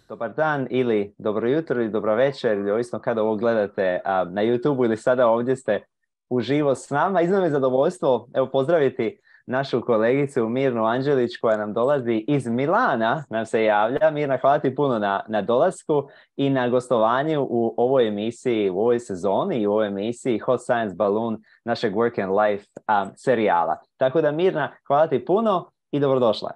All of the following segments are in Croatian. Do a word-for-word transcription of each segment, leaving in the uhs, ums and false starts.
Dobar dan ili dobro jutro ili dobro večer ili ovisno kada ovo gledate a, na YouTubeu ili sada ovdje ste uživo s nama. Iznimno je zadovoljstvo evo pozdraviti našu kolegicu Mirnu Anđelić koja nam dolazi iz Milana, nam se javlja. Mirna, hvala ti puno na, na dolasku i na gostovanju u ovoj emisiji, u ovoj sezoni i u ovoj emisiji Hot Science Balloon našeg Work and Life um, serijala. Tako da Mirna, hvala ti puno i dobrodošla.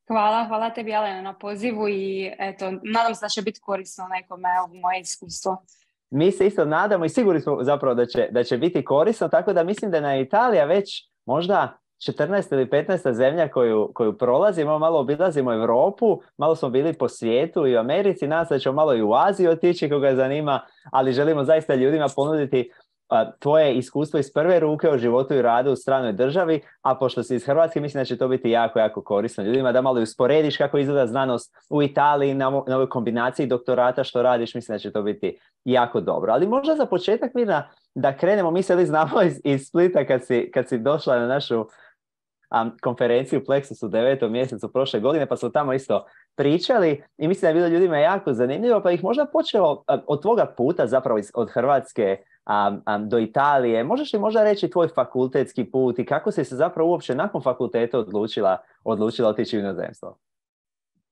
Hvala, hvala tebi Alena na pozivu i eto, nadam se da će biti korisno nekome u moje iskustvo. Mi se isto nadamo i sigurni smo zapravo da će, da će biti korisno, tako da mislim da je na Italija već možda četrnaesta ili petnaesta zemlja koju, koju prolazimo, malo obilazimo Europu, malo smo bili po svijetu i u Americi, nadam se da ćemo malo i u Aziju otići koga zanima, ali želimo zaista ljudima ponuditi a, tvoje iskustvo iz prve ruke o životu i radu u stranoj državi, a pošto si iz Hrvatske, mislim da će to biti jako, jako korisno ljudima, da malo usporediš kako izgleda znanost u Italiji na, na ovoj kombinaciji doktorata što radiš, mislim da će to biti jako dobro. Ali možda za početak, Mirna, da krenemo, mi se li znamo iz, iz Splita kad si, kad si došla na našu um, konferenciju Plexus u devetom mjesecu prošle godine, pa smo tamo isto pričali i mislim da je bilo ljudima jako zanimljivo, pa ih možda počelo um, od tvoga puta zapravo iz, od Hrvatske um, um, do Italije. Možeš li možda reći tvoj fakultetski put i kako si se zapravo uopće nakon fakulteta odlučila, odlučila otići u inozemstvo?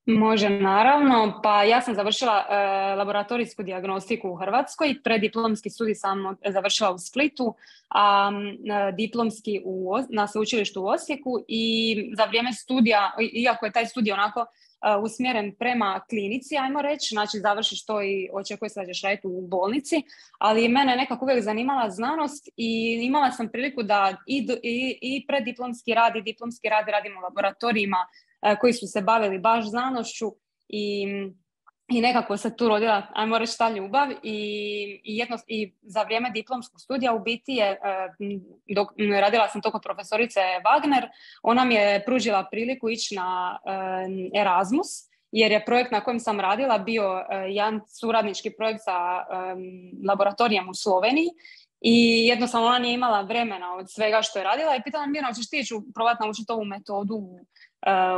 Može, naravno. Pa ja sam završila e, laboratorijsku dijagnostiku u Hrvatskoj, preddiplomski studij sam završila u Splitu, a e, diplomski u, na sveučilištu u Osijeku i za vrijeme studija, iako je taj studij onako e, usmjeren prema klinici, ajmo reći, znači završiš to i očekuje se da ćeš raditi u bolnici, ali mene nekako uvijek zanimala znanost i imala sam priliku da i, i, i preddiplomski rad i diplomski rad radim u laboratorijima koji su se bavili baš znanošću i, i nekako se tu rodila, ajmo reći, ta ljubav i, i, jedno, i za vrijeme diplomskog studija u biti je, dok radila sam to kod profesorice Wagner, ona mi je pružila priliku ići na Erasmus, jer je projekt na kojem sam radila bio jedan suradnički projekt sa laboratorijem u Sloveniji i jednostavno ona nije imala vremena od svega što je radila i pitala Mirna, hoćeš ti ići probati naučiti ovu metodu u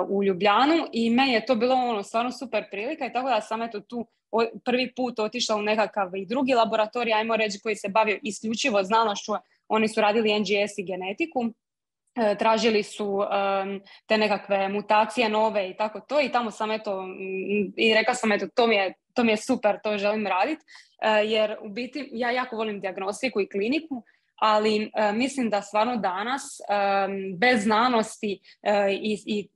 u Ljubljanu i meni je to bilo ono stvarno super prilika i tako da sam eto tu prvi put otišla u nekakav i drugi laboratorij, ajmo reći, koji se bavio isključivo znanošću. Oni su radili N G S i genetiku, tražili su um, te nekakve mutacije nove i tako to i tamo sam eto i rekla sam eto to mi je, to mi je super, to želim raditi uh, jer u biti ja jako volim dijagnostiku i kliniku, ali uh, mislim da stvarno danas um, bez znanosti uh, i, i,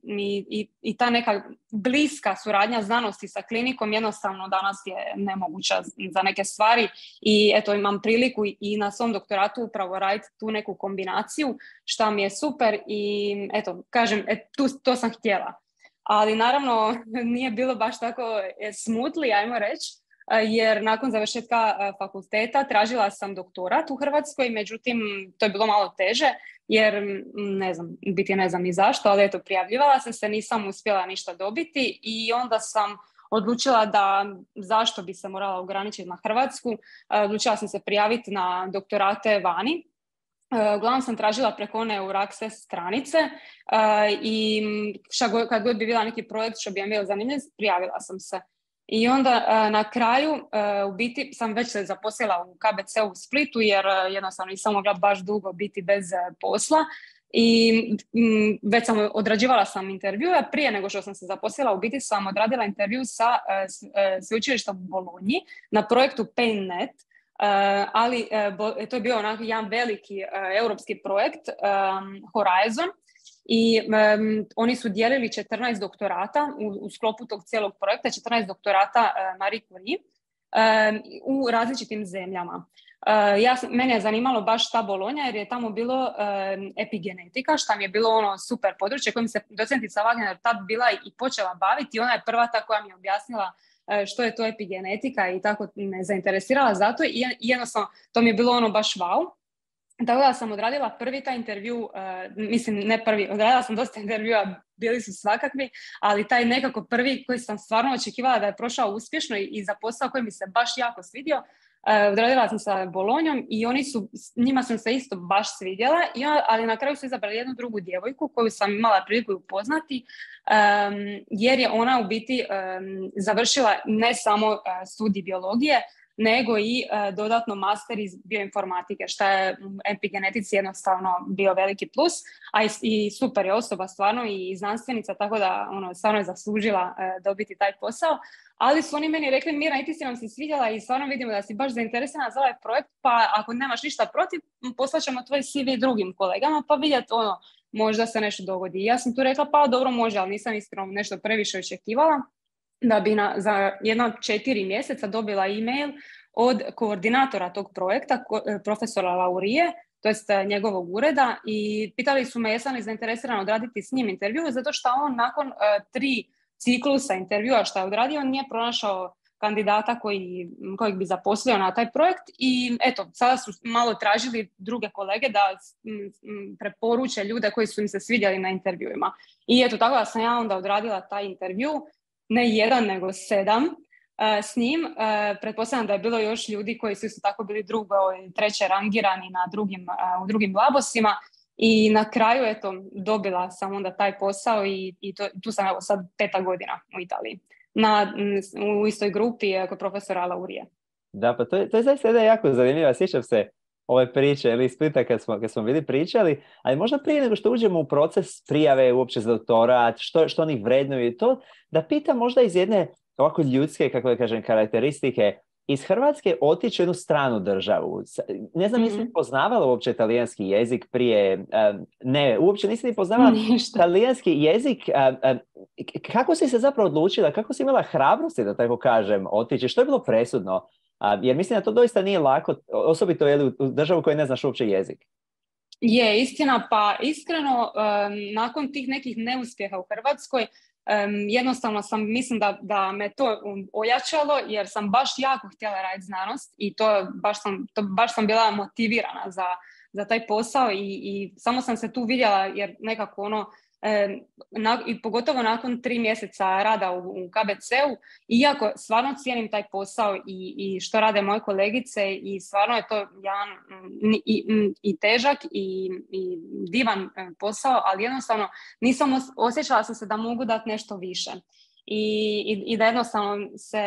i, i ta neka bliska suradnja znanosti sa klinikom jednostavno danas je nemoguća za neke stvari i eto imam priliku i, i na svom doktoratu upravo raditi tu neku kombinaciju šta mi je super i eto kažem et, tu, to sam htjela, ali naravno nije bilo baš tako smutli, ajmo reći, jer nakon završetka fakulteta tražila sam doktorat u Hrvatskoj, međutim to je bilo malo teže jer ne znam, biti ne znam ni zašto, ali eto prijavljivala sam se, nisam uspjela ništa dobiti i onda sam odlučila da zašto bi se morala ograničiti na Hrvatsku, odlučila sam se prijaviti na doktorate vani. Uglavnom sam tražila preko one Euraccess stranice i kad god bi bila neki projekt što bi mi bio zanimljiv, prijavila sam se. I onda na kraju u biti sam već se zaposlila u K B C u Splitu jer jednostavno nisam mogla baš dugo biti bez posla i već sam odrađivala sam intervjue. Prije nego što sam se zaposlila u biti sam odradila intervju sa sveučilištem u Bolonji na projektu PainNet, ali to je bio onako jedan veliki europski projekt Horizon. I um, oni su dijelili četrnaest doktorata u, u sklopu tog cijelog projekta, četrnaest doktorata uh, Marie Curie um, u različitim zemljama. Uh, ja, mene je zanimalo baš ta Bolonja jer je tamo bilo um, epigenetika, što mi je bilo ono super područje kojim se docentica Wagner tad bila i počela baviti i ona je prva ta koja mi je objasnila uh, što je to epigenetika i tako me zainteresirala za to i jednostavno to mi je bilo ono baš wow. Tako da sam odradila prvi taj intervju, uh, mislim ne prvi, odradila sam dosta intervjua, bili su svakakvi, ali taj nekako prvi koji sam stvarno očekivala da je prošao uspješno i, i za posao koji mi se baš jako svidio, odradila sam sa Bolonjom i oni su, njima sam se isto baš svidjela, ali na kraju su izabrali jednu drugu djevojku koju sam imala priliku upoznati, um, jer je ona u biti um, završila ne samo uh, studij biologije, nego i uh, dodatno master iz bioinformatike, što je u epigenetici jednostavno bio veliki plus, a i, i super je osoba stvarno i znanstvenica, tako da ono, stvarno je zaslužila uh, dobiti taj posao. Ali su oni meni rekli, Mira, i ti si nam se svidjela i stvarno vidimo da si baš zainteresirana za ovaj projekt, pa ako nemaš ništa protiv, poslaćemo tvoj C V drugim kolegama, pa vidjeti ono, možda se nešto dogodi. I ja sam tu rekla, pa dobro može, ali nisam iskreno nešto previše očekivala, da bi na, za jedno četiri mjeseca dobila e-mail od koordinatora tog projekta, ko, profesora Laurije, to jest njegovog ureda, i pitali su me jesam li zainteresirana odraditi s njim intervju, zato što on nakon uh, tri ciklusa intervjua što je odradio nije pronašao kandidata koji, kojeg bi zaposlio na taj projekt i eto, sada su malo tražili druge kolege da m, m, preporuče ljude koji su im se svidjeli na intervjuima. I eto, tako da sam ja onda odradila taj intervju, ne jedan nego sedam uh, s njim. Uh, pretpostavljam da je bilo još ljudi koji su isto tako bili drugo i treće rangirani na drugim, uh, u drugim labosima. I na kraju, eto, dobila sam onda taj posao i, i to, tu sam evo sad peta godina u Italiji. Na, u istoj grupi kod profesora Laurije. Da, pa to je, to je zaista jedna jako zanimljiva. Sjećam se ove priče ili iz Splita kad smo, kad smo bili pričali, ali možda prije nego što uđemo u proces prijave uopće za doktorat, što, što oni vrednuju i to, da pitam možda iz jedne ovako ljudske, kako da kažem, karakteristike, iz Hrvatske otići u jednu stranu državu. Ne znam, mm-hmm. nisi poznavala uopće talijanski jezik prije, um, ne, uopće nisi ni poznavala Ništa. talijanski jezik. Um, um, kako si se zapravo odlučila, kako si imala hrabrosti, da tako kažem, otići? Što je bilo presudno? Um, jer mislim da to doista nije lako, osobito je u državu koju ne znaš uopće jezik. Je, istina, pa iskreno, um, nakon tih nekih neuspjeha u Hrvatskoj, Um, jednostavno sam, mislim da, da me to ojačalo jer sam baš jako htjela raditi znanost i to baš sam, to baš sam bila motivirana za, za taj posao i, i samo sam se tu vidjela jer nekako ono, um, na, i pogotovo nakon tri mjeseca rada u, u K B C-u, iako stvarno cijenim taj posao i, i što rade moje kolegice i stvarno je to jedan i, i, i težak i, i divan posao, ali jednostavno nisam os- osjećala sam se da mogu dati nešto više. I, i, i da jednostavno se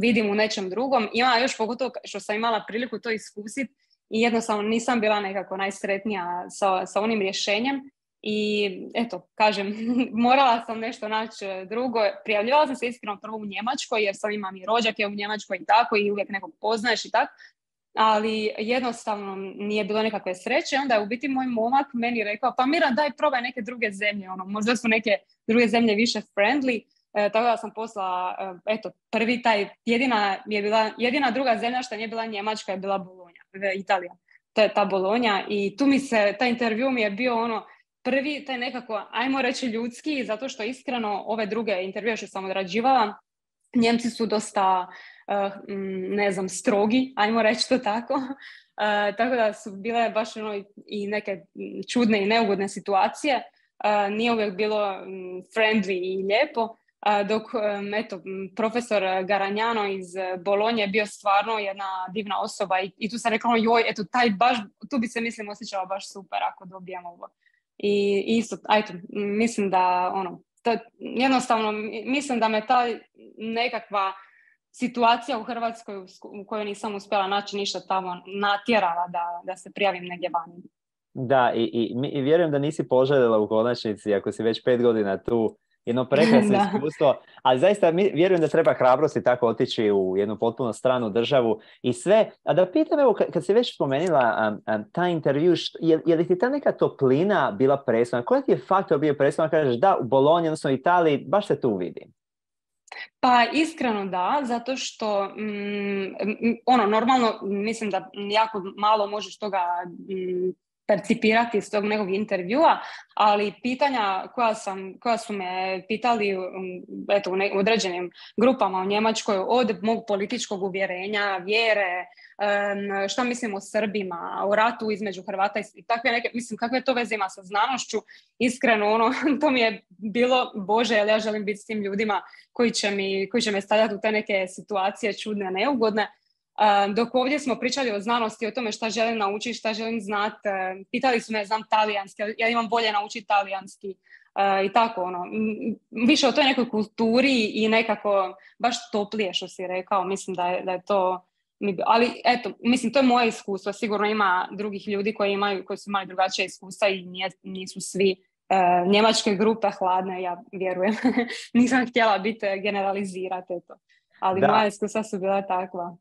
vidim u nečem drugom. Ima još pogotovo što sam imala priliku to iskusiti i jednostavno nisam bila nekako najsretnija sa, sa onim rješenjem. I eto, kažem, morala sam nešto naći drugo. Prijavljivala sam se iskreno prvo u Njemačkoj jer sam imam i rođake u Njemačkoj i tako i uvijek nekog poznaješ i tako. Ali jednostavno nije bilo nekakve sreće. Onda je u biti moj momak meni rekao, pa Mira, daj probaj neke druge zemlje. Ono, možda su neke druge zemlje više friendly. E, tako da sam poslala, eto, prvi taj, jedina je bila, jedina druga zemlja što nije bila Njemačka je bila Bolonja, Italija. To je ta Bolonja i tu mi se, taj intervju mi je bio ono, prvi, taj nekako, ajmo reći ljudski, zato što iskreno ove druge intervjue što sam odrađivala, Njemci su dosta, uh, ne znam, strogi, ajmo reći to tako. Uh, tako da su bile baš ono i neke čudne i neugodne situacije. Uh, nije uvijek bilo um, friendly i lijepo. Uh, dok, um, eto, profesor Garanjano iz Bolonje je bio stvarno jedna divna osoba i, i tu sam rekla, joj, eto, taj baš, tu bi se, mislim, osjećala baš super ako dobijem ovo. I isto, ajto, mislim da ono, to, jednostavno, mislim da me ta nekakva situacija u Hrvatskoj u kojoj nisam uspjela naći ništa tamo natjerala da, da se prijavim negdje vani. Da, i, i, i vjerujem da nisi poželjela u konačnici, ako si već pet godina tu, jedno prekrasno iskustvo, ali zaista mi, vjerujem da treba hrabrosti tako otići u jednu potpuno stranu državu i sve. A da pitam, evo, kad, kad si već spomenula um, um, taj intervju, što, je, je li ti ta neka toplina bila presudna? Koji ti je faktor bio presudna? Kažeš da, u Bolonji, odnosno u Italiji, baš se tu vidim. Pa iskreno da, zato što mm, ono, normalno mislim da jako malo možeš toga mm, percipirati iz tog nekog intervjua, ali pitanja koja, sam, koja su me pitali eto, u, ne, u određenim grupama u Njemačkoj, od mog političkog uvjerenja, vjere, um, šta mislim o Srbima, o ratu između Hrvata i takve neke, mislim, kakve to veze ima sa znanošću, iskreno, ono, to mi je bilo, Bože, jer ja želim biti s tim ljudima koji će, mi, koji će me stavljati u te neke situacije čudne, neugodne. dok ovdje smo pričali o znanosti, o tome šta želim naučiti, šta želim znati. Pitali su me, znam talijanski, ja imam volje naučiti talijanski i tako, ono, više o toj nekoj kulturi i nekako baš toplije, što si rekao, mislim da je, da je to, ali eto, mislim, to je moje iskustvo, sigurno ima drugih ljudi koji imaju, koji su imali drugačije iskustva i nije, nisu svi uh, njemačke grupe hladne, ja vjerujem. Nisam htjela biti generalizirati, eto. Ali da. Moja iskustva su bila takva.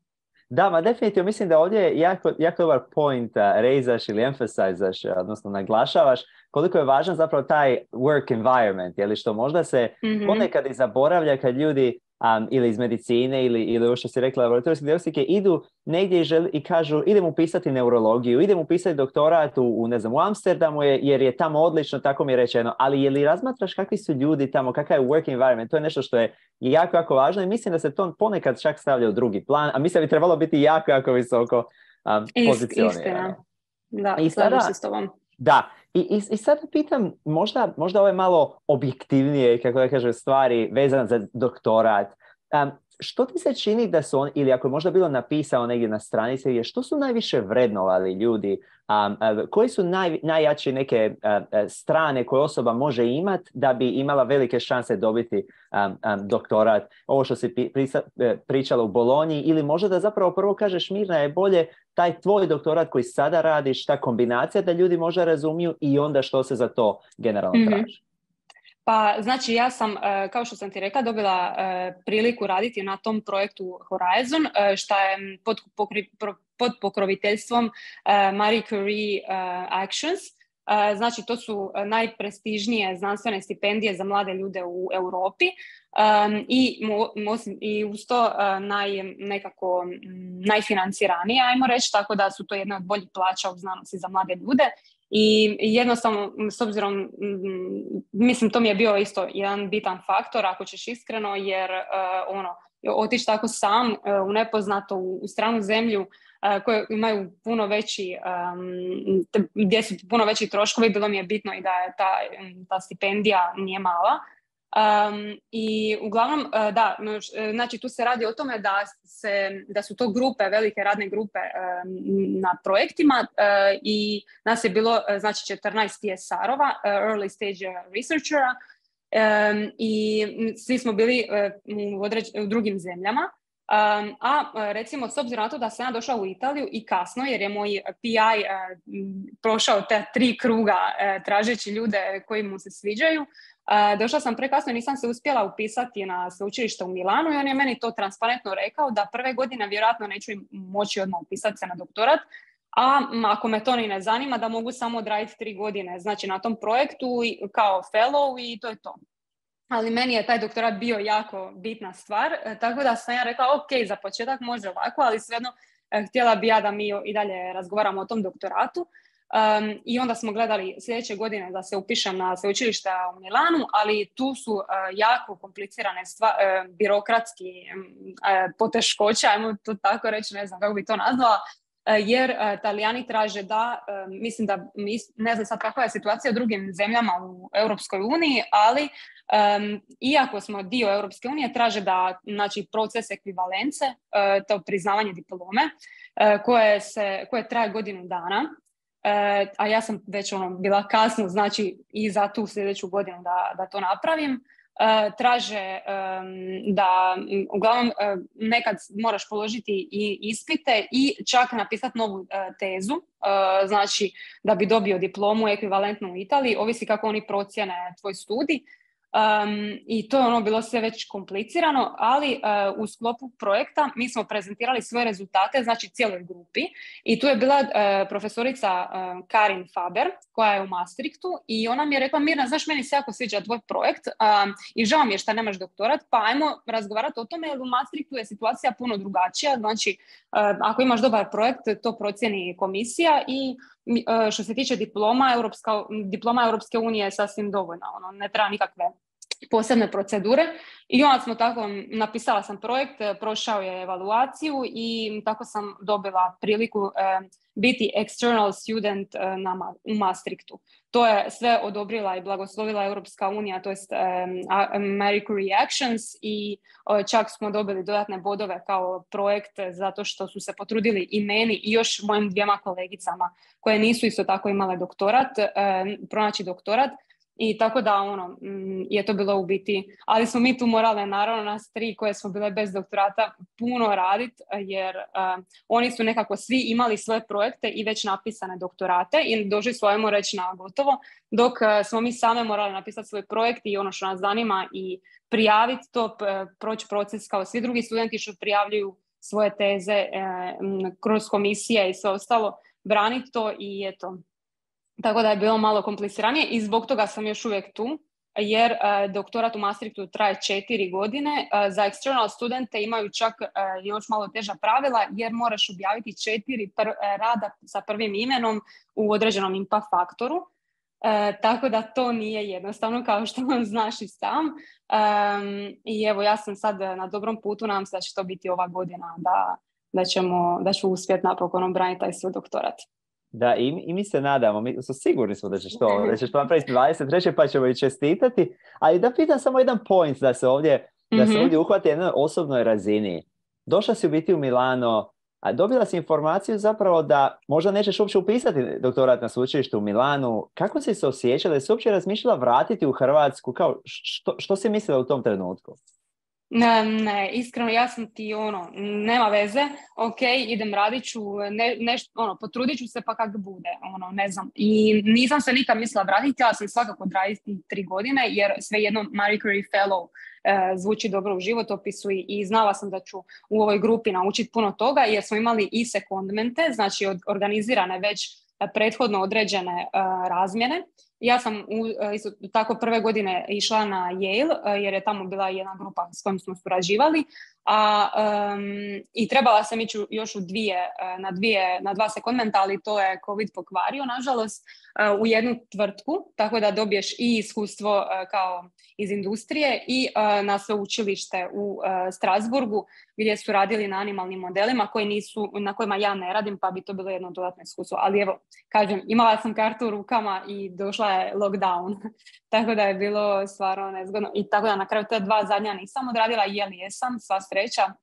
Da, ma definitivno mislim da ovdje jako, jako dobar point uh, rejzaš ili emphasizaš, odnosno naglašavaš koliko je važan zapravo taj work environment, jeli, što možda se mm-hmm. ponekad i zaboravlja kad ljudi um, ili iz medicine ili, ili ovo što si rekla laboratorijske dijagnostike idu negdje i, želi, i kažu idem upisati neurologiju, idem upisati doktorat u, u, ne znam, u Amsterdamu je, jer je tamo odlično, tako mi je rečeno, ali je li razmatraš kakvi su ljudi tamo, kakav je work environment, to je nešto što je jako, jako važno i mislim da se to ponekad čak stavlja u drugi plan, a mislim da bi trebalo biti jako, jako visoko um, pozicionirano. Da, i sada, se s tobom. Da, i, i, i sad pitam, možda, možda ove malo objektivnije, kako da kažem, stvari vezane za doktorat. Um, što ti se čini da su on, ili ako je možda bilo napisano negdje na stranici, je što su najviše vrednovali ljudi, um, uh, koji su naj, najjače neke uh, uh, strane koje osoba može imati da bi imala velike šanse dobiti um, um, doktorat? Ovo što si pri, pri, pričala u Bolonji, ili možda da zapravo prvo kažeš, Mirna, je bolje taj tvoj doktorat koji sada radiš, ta kombinacija da ljudi možda razumiju i onda što se za to generalno traži? Mm-hmm. Pa, znači, ja sam, kao što sam ti rekla, dobila priliku raditi na tom projektu Horizon, što je pod, pokri, pod pokroviteljstvom Marie Curie Actions. Znači, to su najprestižnije znanstvene stipendije za mlade ljude u Europi i, i uz to naj, nekako najfinanciranije, ajmo reći, tako da su to jedne od boljih plaća u znanosti za mlade ljude. I jednostavno, s obzirom, mislim, to mi je bio isto jedan bitan faktor, ako ćeš iskreno, jer uh, ono, otići tako sam uh, u nepoznato, u, u stranu zemlju uh, koje imaju puno veći, um, te, gdje su puno veći troškovi, bilo mi je bitno i da je ta, ta stipendija nije mala. Um, I uglavnom, uh, da, znači tu se radi o tome da, se, da su to grupe, velike radne grupe um, na projektima uh, i nas je bilo, uh, znači, četrnaest T S R-ova, uh, early stage researchera, um, i svi smo bili uh, u, određ, u drugim zemljama. Um, a recimo, s obzirom na to da sam ja došla u Italiju i kasno, jer je moj P I uh, prošao te tri kruga uh, tražeći ljude koji mu se sviđaju, uh, došla sam prekasno i nisam se uspjela upisati na sveučilište u Milanu i on je meni to transparentno rekao da prve godine vjerojatno neću moći odmah upisati se na doktorat, a ako me to ni ne zanima, da mogu samo odraditi tri godine, znači na tom projektu kao fellow i to je to. Ali meni je taj doktorat bio jako bitna stvar, tako da sam ja rekla, ok, za početak može ovako, ali svejedno htjela bi ja da mi i dalje razgovaramo o tom doktoratu. Um, I onda smo gledali sljedeće godine da se upišem na sveučilište u Milanu, ali tu su uh, jako komplicirane stvari, uh, birokratski uh, poteškoće, ajmo to tako reći, ne znam kako bi to nazvala, jer uh, Talijani traže da, uh, mislim da, ne znam sad kakva je situacija u drugim zemljama u Europskoj uniji, ali um, iako smo dio Europske unije, traže da, znači, proces ekvivalence, uh, to priznavanje diplome, uh, koje, se, koje traje godinu dana, uh, a ja sam već ono, bila kasno, znači i za tu sljedeću godinu da, da to napravim. Uh, traže um, da uglavnom uh, nekad moraš položiti i ispite i čak napisati novu uh, tezu, uh, znači da bi dobio diplomu ekvivalentnu u Italiji, ovisi kako oni procjene tvoj studij. Um, I to je ono bilo sve već komplicirano, ali uh, u sklopu projekta mi smo prezentirali svoje rezultate, znači cijeloj grupi, i tu je bila uh, profesorica uh, Karin Faber koja je u Maastrichtu i ona mi je rekla, Mirna, znaš, meni se jako sviđa tvoj projekt um, i žao mi je što nemaš doktorat, pa ajmo razgovarati o tome, jer u Maastrichtu je situacija puno drugačija, znači uh, ako imaš dobar projekt, to procjeni komisija i što se tiče diploma, Europska, diploma Europske unije je sasvim dovoljna, ono, ne treba nikakve posebne procedure i onda smo tako, napisala sam projekt, prošao je evaluaciju i tako sam dobila priliku eh, biti external student eh, na, u Maastrichtu. To je sve odobrila i blagoslovila Europska unija, to jest eh, American Reactions i eh, čak smo dobili dodatne bodove kao projekt zato što su se potrudili i meni i još mojim dvijema kolegicama koje nisu isto tako imale doktorat, eh, pronaći doktorat. I tako da ono, je to bilo u biti, ali smo mi tu morale, naravno nas tri koje smo bile bez doktorata, puno raditi jer uh, oni su nekako svi imali svoje projekte i već napisane doktorate i došli su, ajmo reći, na gotovo, dok uh, smo mi same morali napisati svoj projekt i ono što nas zanima i prijaviti to, proći proces kao svi drugi studenti što prijavljuju svoje teze uh, kroz komisije i sve ostalo, braniti to i eto. Tako da je bilo malo kompliciranije i zbog toga sam još uvijek tu, jer uh, doktorat u Maastrichtu traje četiri godine. Uh, za external studente imaju čak uh, još malo teža pravila, jer moraš objaviti četiri pr- rada sa prvim imenom u određenom impact faktoru. Uh, tako da to nije jednostavno, kao što vam znaš i sam. Um, I evo, ja sam sad na dobrom putu, nadam se da će to biti ova godina, da, da, ćemo, da ću uspjeti napokon obraniti taj svoj doktorat. Da, i, i mi se nadamo, mi su sigurni smo da ćeš to, da ćeš to napraviti dvadeset treće pa ćemo i čestitati, ali da pitam samo jedan point da se ovdje, da se ovdje uhvati na jednoj osobnoj razini. Došla si u biti u Milano, a dobila si informaciju zapravo da možda nećeš uopće upisati doktorat na sveučilištu u Milanu. Kako si se osjećala? Da si uopće razmišljala vratiti u Hrvatsku? Kao, što, što si mislila u tom trenutku? Ne, ne, iskreno ja sam ti ono, nema veze, ok, idem radit ću, ne, neš, ono, potrudit ću se pa kak bude, ono, ne znam. I nisam se nikad mislila vratiti, ja sam svakako odraditi tri godine, jer svejedno Marie Curie Fellow e, zvuči dobro u životopisu i, i znala sam da ću u ovoj grupi naučiti puno toga, jer smo imali i sekondmente, znači od, organizirane već prethodno određene e, razmjene. Ja sam u, isto tako prve godine išla na Yale jer je tamo bila jedna grupa s kojom smo surađivali, a um, i trebala sam ići još u dvije, na, dvije, na dva sekundmenta, ali to je COVID pokvario, nažalost, u jednu tvrtku, tako da dobiješ i iskustvo kao iz industrije i na sveučilište u Strasburgu gdje su radili na animalnim modelima koji nisu, na kojima ja ne radim, pa bi to bilo jedno dodatno iskustvo. Ali evo, kažem, imala sam kartu u rukama i došla je lockdown, tako da je bilo stvarno nezgodno. I tako da na kraju te dva zadnja nisam odradila, jeli jesam, sva sreća.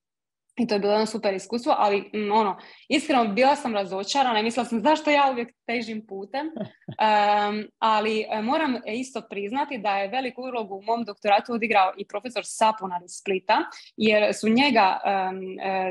I to je bilo jedno super iskustvo, ali m, ono, iskreno bila sam razočarana i mislila sam zašto ja uvijek težim putem, um, ali moram isto priznati da je veliku ulogu u mom doktoratu odigrao i profesor Sapunar iz Splita, jer su njega, um,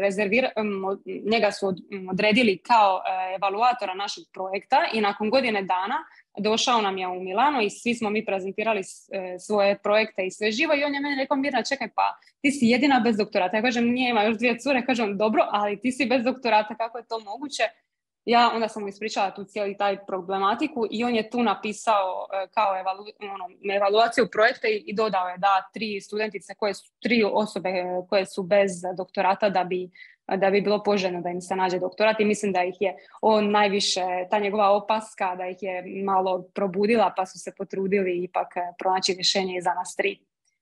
rezervir, um, njega su od, um, odredili kao uh, evaluatora našeg projekta i nakon godine dana došao nam je u Milano i svi smo mi prezentirali e, svoje projekte i sve živo i on je meni rekao, Mirna, čekaj, pa ti si jedina bez doktorata. Ja kažem, nije, ima još dvije cure, kažem, dobro, ali ti si bez doktorata, kako je to moguće? Ja onda sam mu ispričala tu cijeli taj problematiku i on je tu napisao e, kao evalu, ono, evaluaciju projekta i, i dodao je da tri studentice, koje su, tri osobe koje su bez doktorata da bi da bi bilo poželjno da im se nađe doktorat i mislim da ih je on najviše, ta njegova opaska da ih je malo probudila pa su se potrudili ipak pronaći rješenje i za nas tri.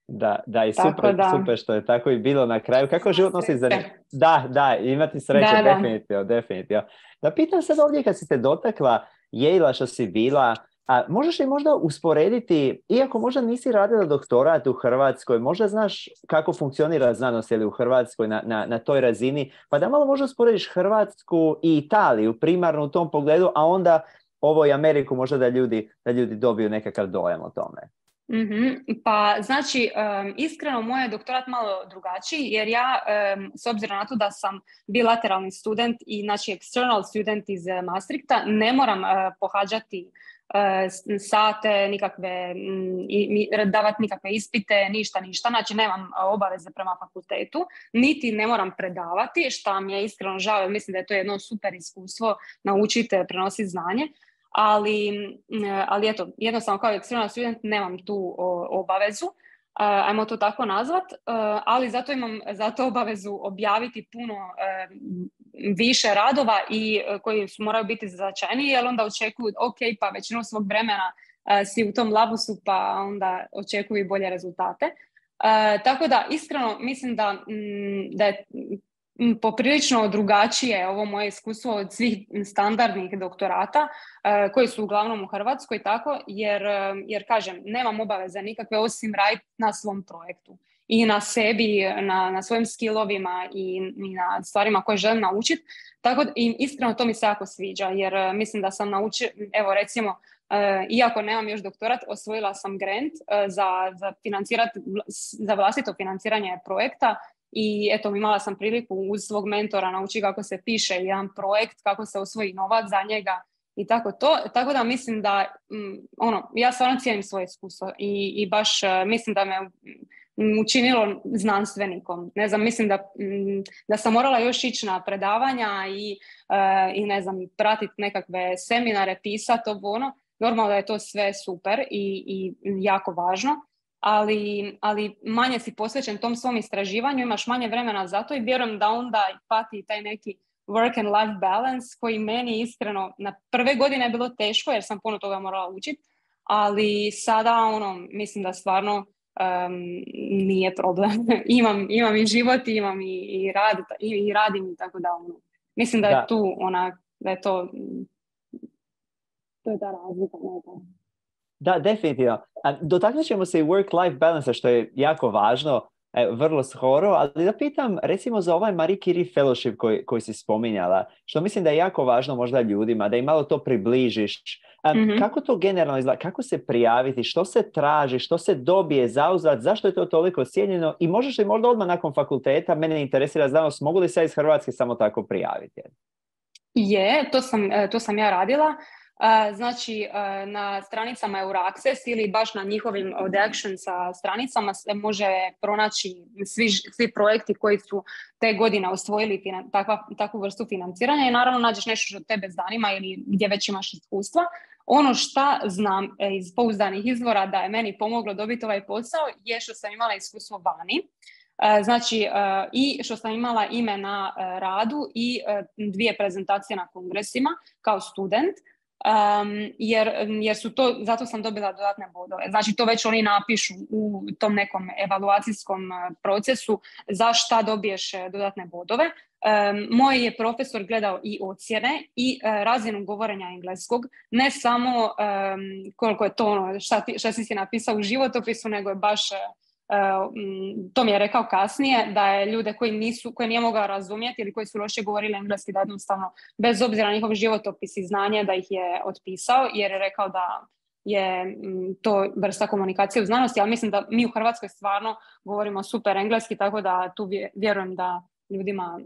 Da, da, i super, da. super što je tako i bilo na kraju. Kako život nosi za njih? Da, da, imati sreće, da, definitivno, da. definitivno. Da pitam sad ovdje kad si te dotakla Yale-a što si bila, a možeš li možda usporediti, iako možda nisi radila doktorat u Hrvatskoj, možda znaš kako funkcionira znanost ili u Hrvatskoj na, na, na toj razini, pa da malo možda usporediš Hrvatsku i Italiju primarno u tom pogledu, a onda ovo i Ameriku možda da ljudi, da ljudi dobiju nekakav dojam o tome. Mm-hmm. Pa znači um, iskreno moj je doktorat malo drugačiji jer ja um, s obzirom na to da sam bilateralni student i znači external student iz uh, Maastrichta ne moram uh, pohađati uh, sate, nikakve m, i, davati nikakve ispite, ništa, ništa, znači nemam obaveze prema fakultetu, niti ne moram predavati, što mi je iskreno žao, mislim da je to jedno super iskustvo naučiti prenositi znanje. Ali, ali eto, jednostavno kao external student nemam tu obavezu, ajmo to tako nazvat, ali zato imam zato obavezu objaviti puno više radova i koji su moraju biti značajniji, jer onda očekuju, ok, pa većinu svog vremena si u tom labusu pa onda očekuju bolje rezultate. Uh, tako da, iskreno, mislim da, m, da je m, poprilično drugačije ovo moje iskustvo od svih standardnih doktorata uh, koji su uglavnom u Hrvatskoj, tako, jer, jer kažem, nemam obaveze nikakve osim raditi na svom projektu i na sebi, na, na svojim skillovima i, i na stvarima koje želim naučiti. Tako da, i iskreno to mi se jako sviđa, jer uh, mislim da sam naučila, evo recimo, uh, iako nemam još doktorat, osvojila sam grant uh, za, za, za vlastito financiranje projekta i eto, imala sam priliku uz svog mentora naučiti kako se piše jedan projekt, kako se osvoji novac za njega i tako to. Tako da mislim da, um, ono, ja stvarno cijenim svoje iskustvo i, i baš uh, mislim da me učinilo znanstvenikom. Ne znam, mislim da, da sam morala još ići na predavanja i, uh, i ne znam, pratiti nekakve seminare, pisati ovo ono. Normalno da je to sve super i, i jako važno, ali, ali manje si posvećen tom svom istraživanju, imaš manje vremena za to i vjerujem da onda pati taj neki work and life balance koji meni iskreno na prve godine je bilo teško jer sam puno toga morala učiti, ali sada ono, mislim da stvarno Um, nije problem. imam, imam i život, imam i, i, rad, i, i radim i tako da ono. Mislim da je da. tu ona, da je to to je ta razlika. Da, definitivno. Dotaknut ćemo se i work-life balance, što je jako važno, e, vrlo skoro, ali da pitam, recimo za ovaj Marie Curie Fellowship koji, koji si spominjala, što mislim da je jako važno možda ljudima, da im malo to približiš. Um, mm-hmm. Kako to generalno izgleda? Kako se prijaviti? Što se traži? Što se dobije zauzvrat? Zašto je to toliko cijenjeno? I možeš li možda odmah nakon fakulteta, mene interesira znanost, mogu li se iz Hrvatske samo tako prijaviti? Je, to sam, to sam ja radila. Znači, na stranicama Euraccess ili baš na njihovim Od Actionsa stranicama se može pronaći svi, svi projekti koji su te godine osvojili finan, takva, takvu vrstu financiranja i naravno nađeš nešto što tebe zanima ili gdje već imaš iskustva. Ono šta znam iz pouzdanih izvora da je meni pomoglo dobiti ovaj posao je što sam imala iskustvo vani. Znači, i što sam imala ime na radu i dvije prezentacije na kongresima kao student. Um, jer, jer su to, zato sam dobila dodatne bodove. Znači to već oni napišu u tom nekom evaluacijskom procesu za šta dobiješ dodatne bodove. Um, moj je profesor gledao i ocjene i uh, razinu govorenja engleskog, ne samo um, koliko je to ono, šta, ti, šta si si napisao u životopisu, nego je baš Uh, to mi je rekao kasnije, da je ljude koji nisu, koje nije mogao razumjeti ili koji su loše govorili engleski, da jednostavno bez obzira na njihov životopis i znanje da ih je otpisao, jer je rekao da je m, to vrsta komunikacije u znanosti, ali mislim da mi u Hrvatskoj stvarno govorimo super engleski, tako da tu vjerujem da ljudima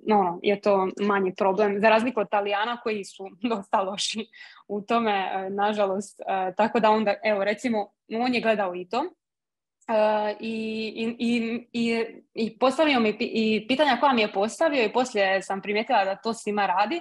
no, no, je to manji problem, za razliku od Talijana koji su dosta loši u tome, nažalost. Uh, tako da onda, evo recimo, on je gledao i to. Uh, i, i, i, i postavio mi i pitanja koja mi je postavio i poslije sam primijetila da to svima radi.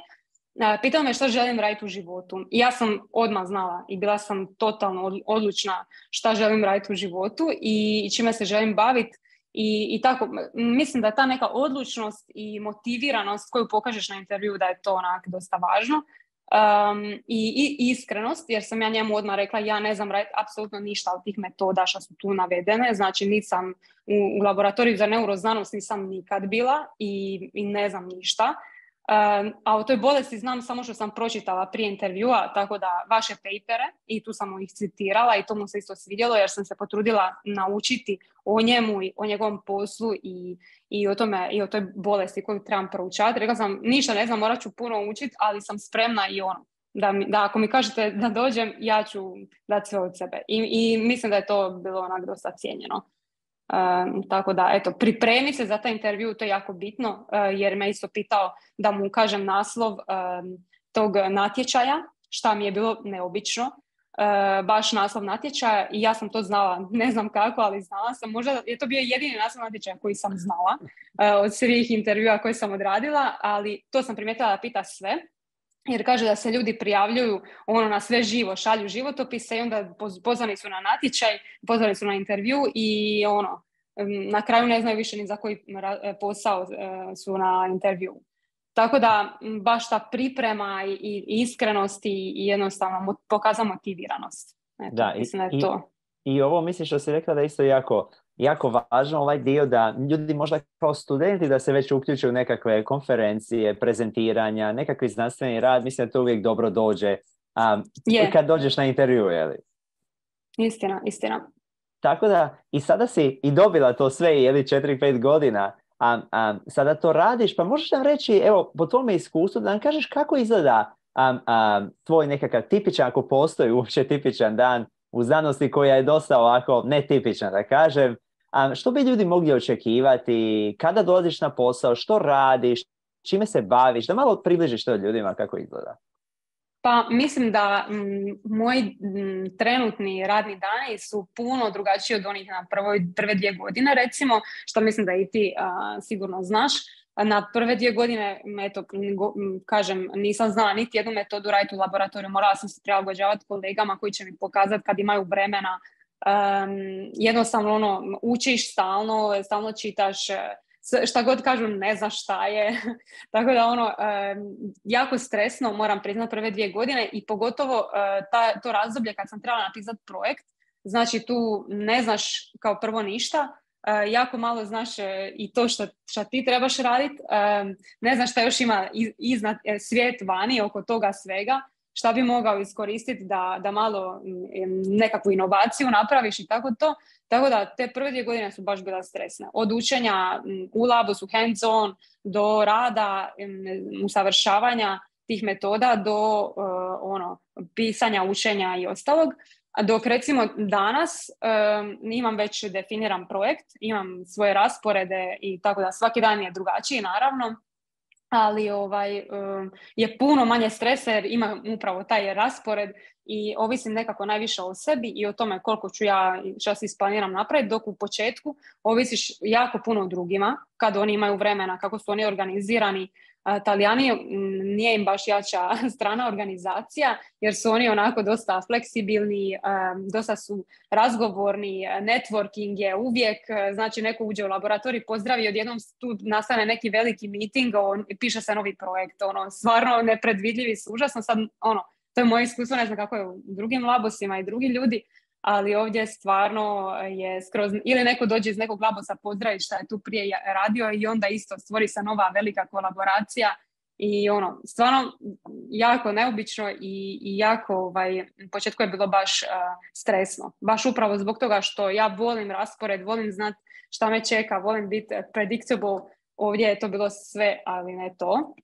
Uh, pitao me što želim raditi u životu i ja sam odmah znala i bila sam totalno odlučna šta želim raditi u životu i čime se želim baviti i, i tako, mislim da ta neka odlučnost i motiviranost koju pokažeš na intervju da je to onak dosta važno. Um, i, i iskrenost, jer sam ja njemu odmah rekla ja ne znam raditi apsolutno ništa od tih metoda što su tu navedene, znači nisam u, u laboratoriju za neuroznanost nisam nikad bila i, i ne znam ništa, um, a o toj bolesti znam samo što sam pročitala prije intervjua, tako da vaše papere i tu sam ih citirala i to mu se isto svidjelo jer sam se potrudila naučiti o njemu i o njegovom poslu i, i o tome i o toj bolesti koju trebam proučavati. Rekla sam, ništa ne znam, morat ću puno učiti, ali sam spremna i ono, da, mi, da ako mi kažete da dođem, ja ću dati sve od sebe. I, i mislim da je to bilo onak dosta cijenjeno. Um, tako da, eto, pripremi se za taj intervju, to je jako bitno, uh, jer me isto pitao da mu kažem naslov um, tog natječaja, šta mi je bilo neobično. Uh, baš naslov natječaja i ja sam to znala, ne znam kako, ali znala sam, možda je to bio jedini naslov natječaja koji sam znala uh, od svih intervjua koje sam odradila, ali to sam primijetila da pita sve, jer kaže da se ljudi prijavljuju ono na sve živo, šalju životopise i onda pozvani su na natječaj, pozvani su na intervju i ono, na kraju ne znaju više ni za koji posao uh, su na intervju. Tako da baš ta priprema i, i iskrenost i jednostavno pokaza motiviranost. Eto, Da, i, mislim da je i, to. i ovo mislim što si rekla da je isto jako, jako važno ovaj dio da ljudi možda kao studenti da se već uključuju u nekakve konferencije, prezentiranja, nekakvi znanstveni rad, mislim da to uvijek dobro dođe um, Je, kad dođeš na intervju, je li? istina, istina. Tako da, i sada si i dobila to sve, je li, četiri pet godina, a, a sada to radiš, pa možeš nam reći, evo, po tvome iskustvu, da nam kažeš kako izgleda a, a, tvoj nekakav tipičan, ako postoji uopće tipičan dan u znanosti koja je dosta ovako netipična, da kažem. A, što bi ljudi mogli očekivati, kada dolaziš na posao, što radiš, čime se baviš, da malo približiš to ljudima kako izgleda. Pa mislim da m, moji m, trenutni radni dani su puno drugačiji od onih na prvoj, prve dvije godine, recimo, što mislim da i ti a, sigurno znaš. Na prve dvije godine, eto, go, kažem, nisam znala niti jednu metodu raditi u laboratoriju, morala sam se prilagođavati kolegama koji će mi pokazati kad imaju vremena. Um, jednostavno ono, učiš stalno, stalno čitaš, šta god kažu ne znaš šta je. Tako da ono, um, jako stresno, moram priznati, prve dvije godine i pogotovo uh, ta, to razdoblje kad sam trebala napisati projekt, znači tu ne znaš kao prvo ništa, uh, jako malo znaš uh, i to što, što ti trebaš raditi, um, ne znaš šta još ima iz, iznad uh, svijet vani oko toga svega, šta bi mogao iskoristiti da, da malo nekakvu inovaciju napraviš i tako to. Tako da te prve dvije godine su baš bila stresne. Od učenja u labu su hands on, do rada, usavršavanja tih metoda, do uh, ono, pisanja, učenja i ostalog. Dok recimo danas um, imam već definiran projekt, imam svoje rasporede i tako da svaki dan je drugačiji naravno, ali ovaj, um, je puno manje stresa jer imam upravo taj raspored i ovisim nekako najviše o sebi i o tome koliko ću ja, što si isplaniram napraviti, dok u početku ovisiš jako puno o drugima, kad oni imaju vremena, kako su oni organizirani. Talijani nije im baš jača strana organizacija, jer su oni onako dosta fleksibilni, dosta su razgovorni, networking je uvijek, znači neko uđe u laboratorij, pozdravi, odjednom tu nastane neki veliki meeting, on, piše se novi projekt, ono, stvarno nepredvidljivi su, užasno sad, ono, to je moje iskustvo, ne znam kako je u drugim labosima i drugi ljudi, ali ovdje stvarno je skroz, ili neko dođe iz nekog labosa pozdraviti šta je tu prije radio i onda isto stvori se nova velika kolaboracija i ono, stvarno jako neobično i, i jako, ovaj, u početku je bilo baš uh, stresno, baš upravo zbog toga što ja volim raspored, volim znati šta me čeka, volim biti predictable, ovdje je to bilo sve, ali ne to.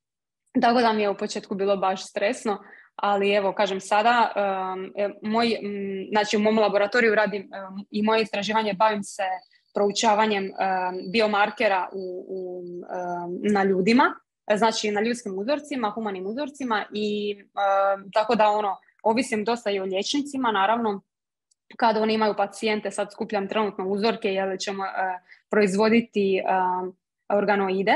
Tako da mi je u početku bilo baš stresno. Ali evo, kažem sada, um, moj, um, znači u mom laboratoriju radim um, i moje istraživanje, bavim se proučavanjem um, biomarkera u, u, um, na ljudima, znači na ljudskim uzorcima, humanim uzorcima i um, tako da ono, ovisim dosta i o liječnicima, naravno, kada oni imaju pacijente, sad skupljam trenutno uzorke jer ćemo uh, proizvoditi um, organoide.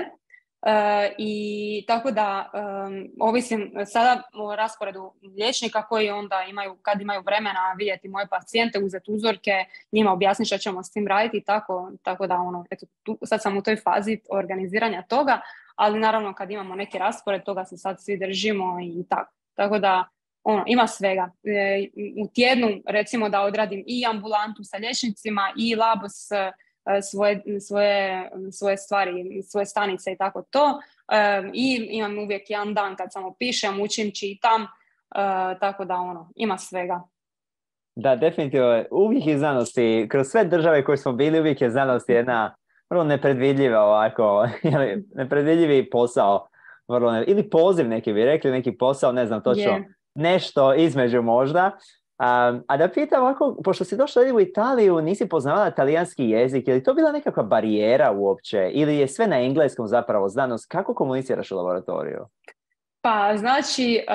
Uh, i tako da um, ovisim sada o rasporedu liječnika koji onda imaju, kad imaju vremena vidjeti moje pacijente, uzeti uzorke, njima objasniti što ćemo s tim raditi i tako, tako da ono, eto, tu, sad sam u toj fazi organiziranja toga, ali naravno kad imamo neki raspored, toga se sad svi držimo i tako. Tako da ono, ima svega. E, u tjednu recimo da odradim i ambulantu sa liječnicima i labo s Svoje, svoje, svoje stvari, svoje stanice i tako to. Um, I imam uvijek jedan dan kad samo pišem, učim, čitam, uh, tako da ono, ima svega. Da, definitivno. Uvijek je znanosti, kroz sve države koje smo bili, uvijek je znanost jedna vrlo nepredvidljiva ovako, nepredvidljivi posao. Vrlo ne, ili poziv neki bi rekli, neki posao, ne znam točno, yeah. Nešto između možda. Um, a da pitam ovako, pošto si došla u Italiju, nisi poznavala talijanski jezik, je li to bila nekakva barijera uopće? Ili je sve na engleskom zapravo znanost? Kako komuniciraš u laboratoriju? Pa znači,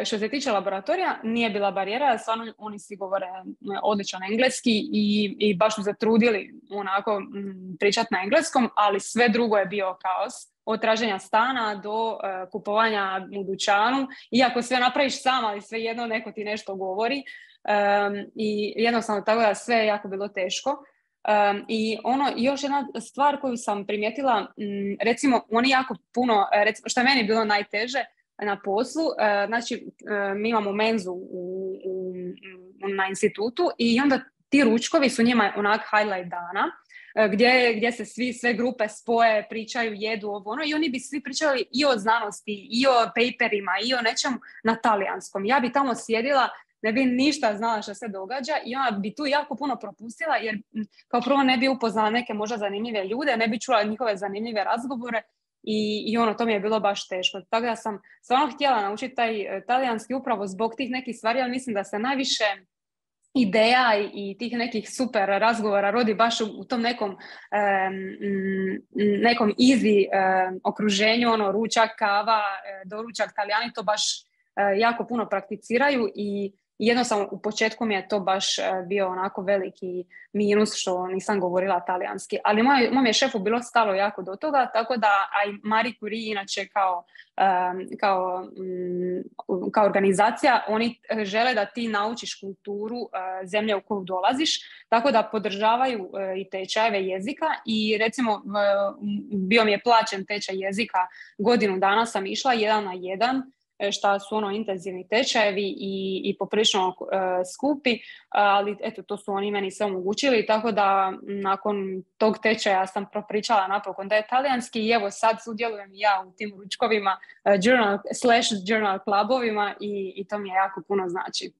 što se tiče laboratorija, nije bila barijera, stvarno oni svi govore odličan engleski i, i baš su zatrudili onako pričati na engleskom, ali sve drugo je bio kaos. Od traženja stana do uh, kupovanja u dućanu, iako sve napraviš sam, ali svejedno neko ti nešto govori. Um, I jednostavno tako da sve je jako bilo teško. Um, I ono, još jedna stvar koju sam primijetila, m, recimo oni jako puno, recimo, što je meni bilo najteže, na poslu, uh, znači uh, mi imamo menzu u, u, na institutu i onda ti ručkovi su njima onak highlight dana, Gdje, gdje se svi, sve grupe spoje, pričaju, jedu ovo ono i oni bi svi pričali i o znanosti, i o paperima, i o nečemu na talijanskom. Ja bi tamo sjedila, ne bi ništa znala što se događa i ona bi tu jako puno propustila jer kao prvo ne bi upoznala neke možda zanimljive ljude, ne bi čula njihove zanimljive razgovore i, i ono, to mi je bilo baš teško. Tako da sam stvarno htjela naučiti taj talijanski upravo zbog tih nekih stvari, ali mislim da se najviše ideja i tih nekih super razgovora rodi baš u, u tom nekom um, nekom easy um, okruženju, ono, ručak, kava, doručak, Talijani to baš uh, jako puno prakticiraju i jednostavno u početku mi je to baš uh, bio onako veliki minus što nisam govorila talijanski, ali moj, moj je šefu bilo stalo jako do toga, tako da a i Marie Curie inače kao, um, kao, um, kao organizacija, oni žele da ti naučiš kulturu uh, zemlje u koju dolaziš, tako da podržavaju uh, i tečajeve jezika i recimo uh, bio mi je plaćen tečaj jezika, godinu dana sam išla jedan na jedan, šta su ono intenzivni tečajevi i, i poprilično uh, skupi, ali eto, to su oni meni sve omogućili, tako da nakon tog tečaja sam propričala napokon da je talijanski i evo sad sudjelujem ja u tim ručkovima, uh, journal, slash journal klubovima i, i to mi je jako puno znači.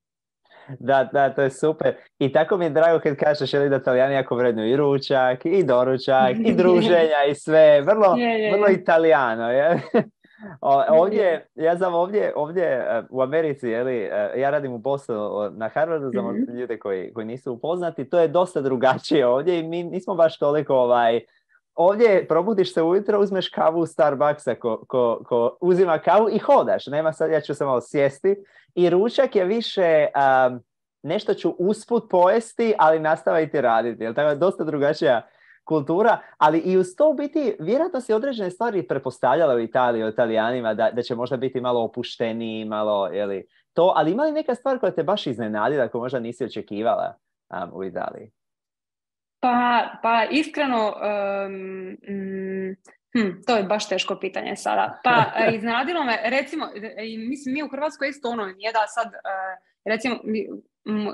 Da, da, to je super. I tako mi je drago kad kažeš jeli, da Talijani jako vrednuju i ručak, i doručak, i druženja, i sve. Vrlo, je, je. vrlo italijano, je. Ovdje, ja znam ovdje, ovdje u Americi, jeli, ja radim u Bostonu na Harvardu za mm-hmm. ljude koji, koji nisu upoznati, to je dosta drugačije ovdje i mi nismo baš toliko ovaj, ovdje probudiš se ujutro, uzmeš kavu u Starbucksa ko, ko, ko uzima kavu i hodaš, nema sad, ja ću se malo sjesti i ručak je više um, nešto ću usput pojesti, ali nastaviti raditi, jel, tako je dosta drugačija kultura, ali i uz to biti, vjerojatno si određene stvari pretpostavljala u Italiji, o Italijanima, da, da će možda biti malo opušteniji, malo, jeli, to, ali ima li neka stvar koja te baš iznenadila, koju možda nisi očekivala um, u Italiji? Pa, pa iskreno, um, um, hm, to je baš teško pitanje sada. Pa iznenadilo me, recimo, mislim, mi u Hrvatskoj isto ono, nije da sad, uh, recimo,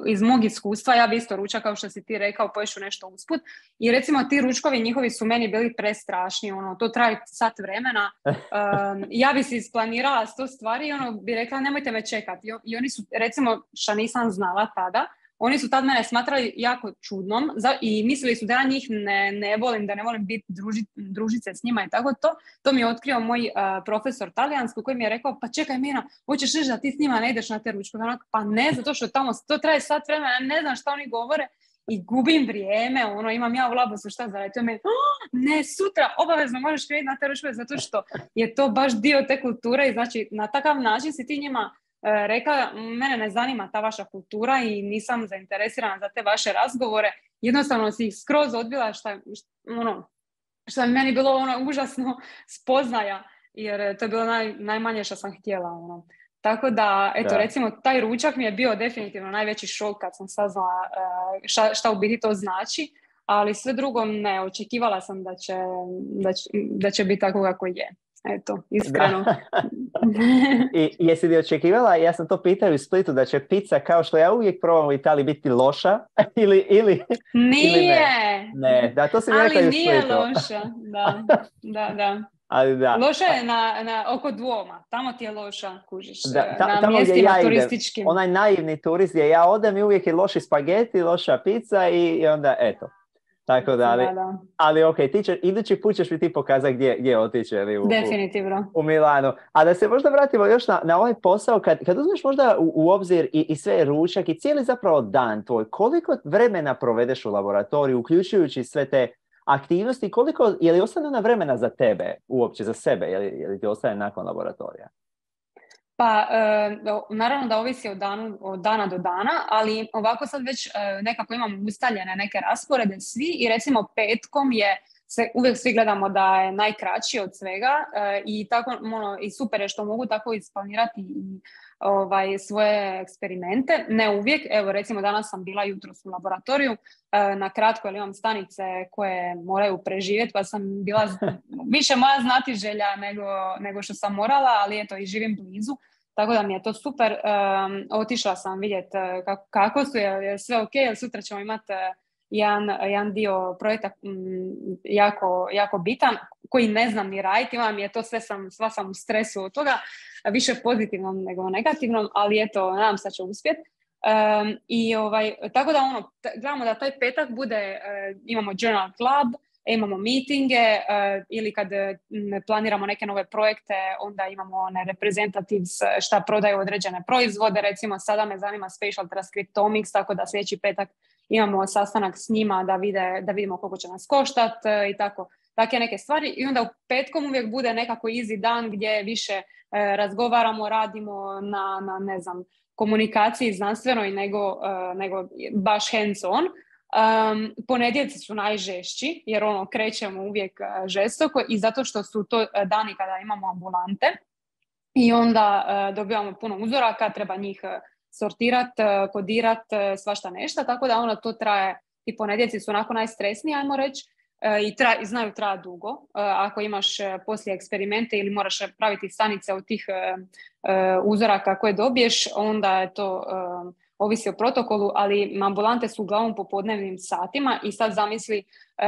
iz mog iskustva, ja bi isto ručak, kao što si ti rekao, poješu nešto usput. I recimo ti ručkovi njihovi su meni bili prestrašni, ono, to traje sat vremena. Um, ja bi si isplanirala sto stvari i ono bi rekla nemojte me čekati. I, I oni su, recimo, što nisam znala tada, oni su tad mene smatrali jako čudnom za, i mislili su da ja njih ne, ne volim, da ne volim biti druži, družice s njima i tako to. To mi je otkrio moj uh, profesor talijanski koji mi je rekao, pa čekaj Mina, hoćeš reći da ti s njima ne ideš na te ručkove? Pa ne, zato što tamo to traje sat vremena, ne znam šta oni govore i gubim vrijeme, ono, imam ja u labosu šta za raditi. Oh, ne, sutra obavezno možeš krenuti na te ručkove zato što je to baš dio te kulture i znači na takav način si ti njima rekla, mene ne zanima ta vaša kultura i nisam zainteresirana za te vaše razgovore. Jednostavno si ih skroz odbila šta, šta, ono, što je meni bilo ono užasno spoznaja, jer to je bilo naj, najmanje što sam htjela. Ono. Tako da, eto, da. recimo, taj ručak mi je bio definitivno najveći šok kad sam saznala šta, šta u biti to znači, ali sve drugo ne, očekivala sam da će, da će, da će biti tako kako je. Eto, iskreno. I jesi li očekivala, ja sam to pitao u Splitu, da će pizza, kao što ja uvijek probam u Italiji, biti loša? ili, ili, nije! Ili ne? ne, da, to si mi rekla i u Splitu. Ali nije loša, da, da, da. Ali da. Loša je na, na, oko Duoma, tamo ti je loša, kužiš, da, ta, na mjestima ja turističkim. Idem, onaj naivni turist gdje ja odem i uvijek je loši spageti, loša pizza i, i onda, eto. Tako da, ali, da, da. ali ok, ti će, idući put ćeš mi ti pokazati gdje, gdje otići ali u, definitivno. U, u Milanu. A da se možda vratimo još na, na ovaj posao, kad, kad uzmeš možda u, u obzir i, i sve ručak i cijeli zapravo dan tvoj, koliko vremena provedeš u laboratoriju, uključujući sve te aktivnosti, koliko, je li ostane na vremena za tebe, uopće za sebe, je li, je li ti ostane nakon laboratorija? Pa, e, naravno da ovisi od, danu, od dana do dana, ali ovako sad već e, nekako imamo ustaljene neke rasporede svi i recimo petkom je, se, uvijek svi gledamo da je najkraći od svega e, i tako ono, i super je što mogu tako isplanirati i ovaj, svoje eksperimente. Ne uvijek, evo recimo danas sam bila jutros u laboratoriju, na kratko jer imam stanice koje moraju preživjeti, pa sam bila više moja znatiželja nego, nego što sam morala, ali eto i živim blizu. Tako da mi je to super. Um, otišla sam vidjeti kako, kako su, je, je sve ok, jer sutra ćemo imati jedan, jedan dio projekta m, jako, jako bitan, koji ne znam ni raditi, imam je to sve sam, sva sam u stresu od toga, više pozitivnom nego negativnom, ali eto, nadam se da će uspjeti. Um, i ovaj, tako da ono, t- gledamo da taj petak bude, uh, imamo journal club, imamo meetinge uh, ili kad uh, planiramo neke nove projekte, onda imamo one representatives šta prodaju određene proizvode, recimo sada me zanima Spatial Transcriptomics, tako da sljedeći petak imamo sastanak s njima da, vide, da vidimo koliko će nas koštati uh, i tako, takve neke stvari. I onda u petkom uvijek bude nekako easy dan gdje više uh, razgovaramo, radimo na, na ne znam, komunikaciji znanstvenoj nego, uh, nego baš hands on. Um, ponedjeljci su najžešći jer ono krećemo uvijek uh, žestoko i zato što su to uh, dani kada imamo ambulante i onda uh, dobivamo puno uzoraka, treba njih uh, sortirati, uh, kodirati, uh, svašta nešto, tako da ono to traje, i ponedjeljci su onako najstresniji, ajmo reći, uh, i, tra, i znaju traja dugo. Uh, ako imaš uh, poslije eksperimente ili moraš praviti stanice od tih uh, uh, uzoraka koje dobiješ, onda je to uh, ovisi o protokolu, ali ambulante su uglavnom popodnevnim satima i sad zamisli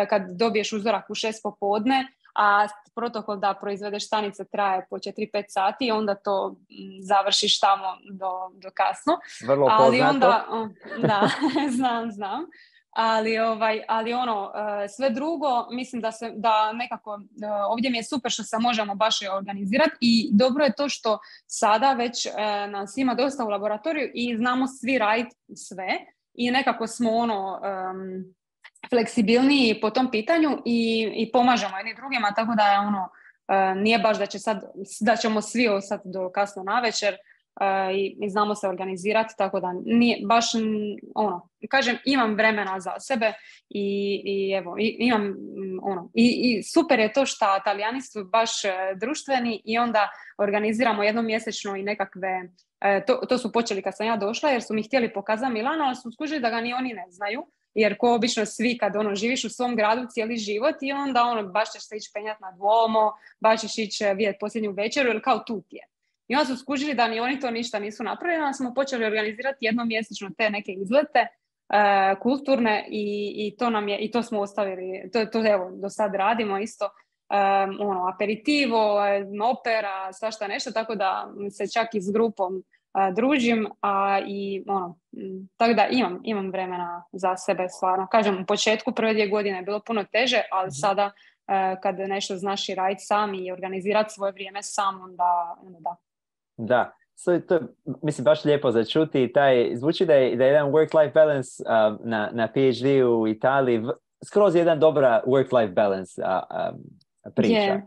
kad dobiješ uzorak u šest popodne, a protokol da proizvedeš stanice traje po četiri pet sati, onda to završiš tamo do, do kasno. Vrlo ali poznato. Onda, da, znam, znam. Ali, ovaj, ali ono, sve drugo, mislim da, se, da nekako, ovdje mi je super što se možemo baš organizirati i dobro je to što sada već nas ima dosta u laboratoriju i znamo svi raditi sve i nekako smo ono um, fleksibilniji po tom pitanju i, i pomažemo jedni drugima, tako da je ono, uh, nije baš da, će sad, da ćemo svi ostati do kasno navečer. Uh, i, i znamo se organizirati, tako da nije baš ono, kažem, imam vremena za sebe i, i evo, i, imam ono, i, i super je to što Talijani su baš društveni i onda organiziramo jednom mjesečno i nekakve, uh, to, to su počeli kad sam ja došla jer su mi htjeli pokazati Milano, ali su skužili da ga ni oni ne znaju, jer ko obično svi kad ono, živiš u svom gradu cijeli život i onda ono, baš ćeš se ići penjati na Duomo, baš ćeš ići vidjeti posljednju večeru ili kao tu ti je. I onda su skužili da ni oni to ništa nisu napravili, onda smo počeli organizirati jednomjesečno te neke izlete uh, kulturne i, i to nam je, i to smo ostavili, to, to evo, do sad radimo isto, um, ono, aperitivo, opera, svašta nešto, tako da se čak i s grupom uh, družim, a i ono, m, tako da imam, imam vremena za sebe stvarno. Kažem, u početku prve dvije godine je bilo puno teže, ali sada uh, kad nešto znaš i raditi sam i organizirati svoje vrijeme sam, onda, onda da. Da, so, to je, mislim, baš lijepo za čuti. Taj, zvuči da je, da je jedan work-life balance uh, na, na PhD u Italiji, v, skroz jedan dobra work-life balance uh, um, priča. Yeah.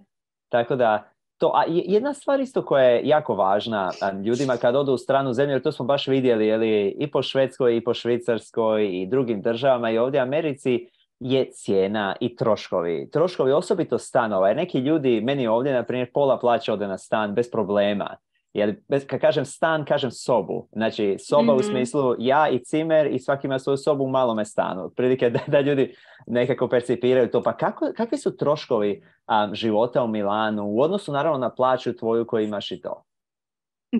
Tako da, to, a jedna stvar isto koja je jako važna um, ljudima kad odu u stranu zemlju, jer to smo baš vidjeli jeli, i po Švedskoj, i po Švicarskoj, i drugim državama, i ovdje u Americi, je cijena i troškovi. Troškovi osobito stanova, jer neki ljudi, meni ovdje, na primjer, pola plaća ode na stan bez problema. Jer, kad kažem stan, kažem sobu. Znači, soba mm-hmm. u smislu ja i cimer i svaki ima svoju sobu u malome stanu. Prilike da, da ljudi nekako percipiraju to. Pa kako, kakvi su troškovi um, života u Milanu u odnosu naravno na plaću tvoju koju imaš i to?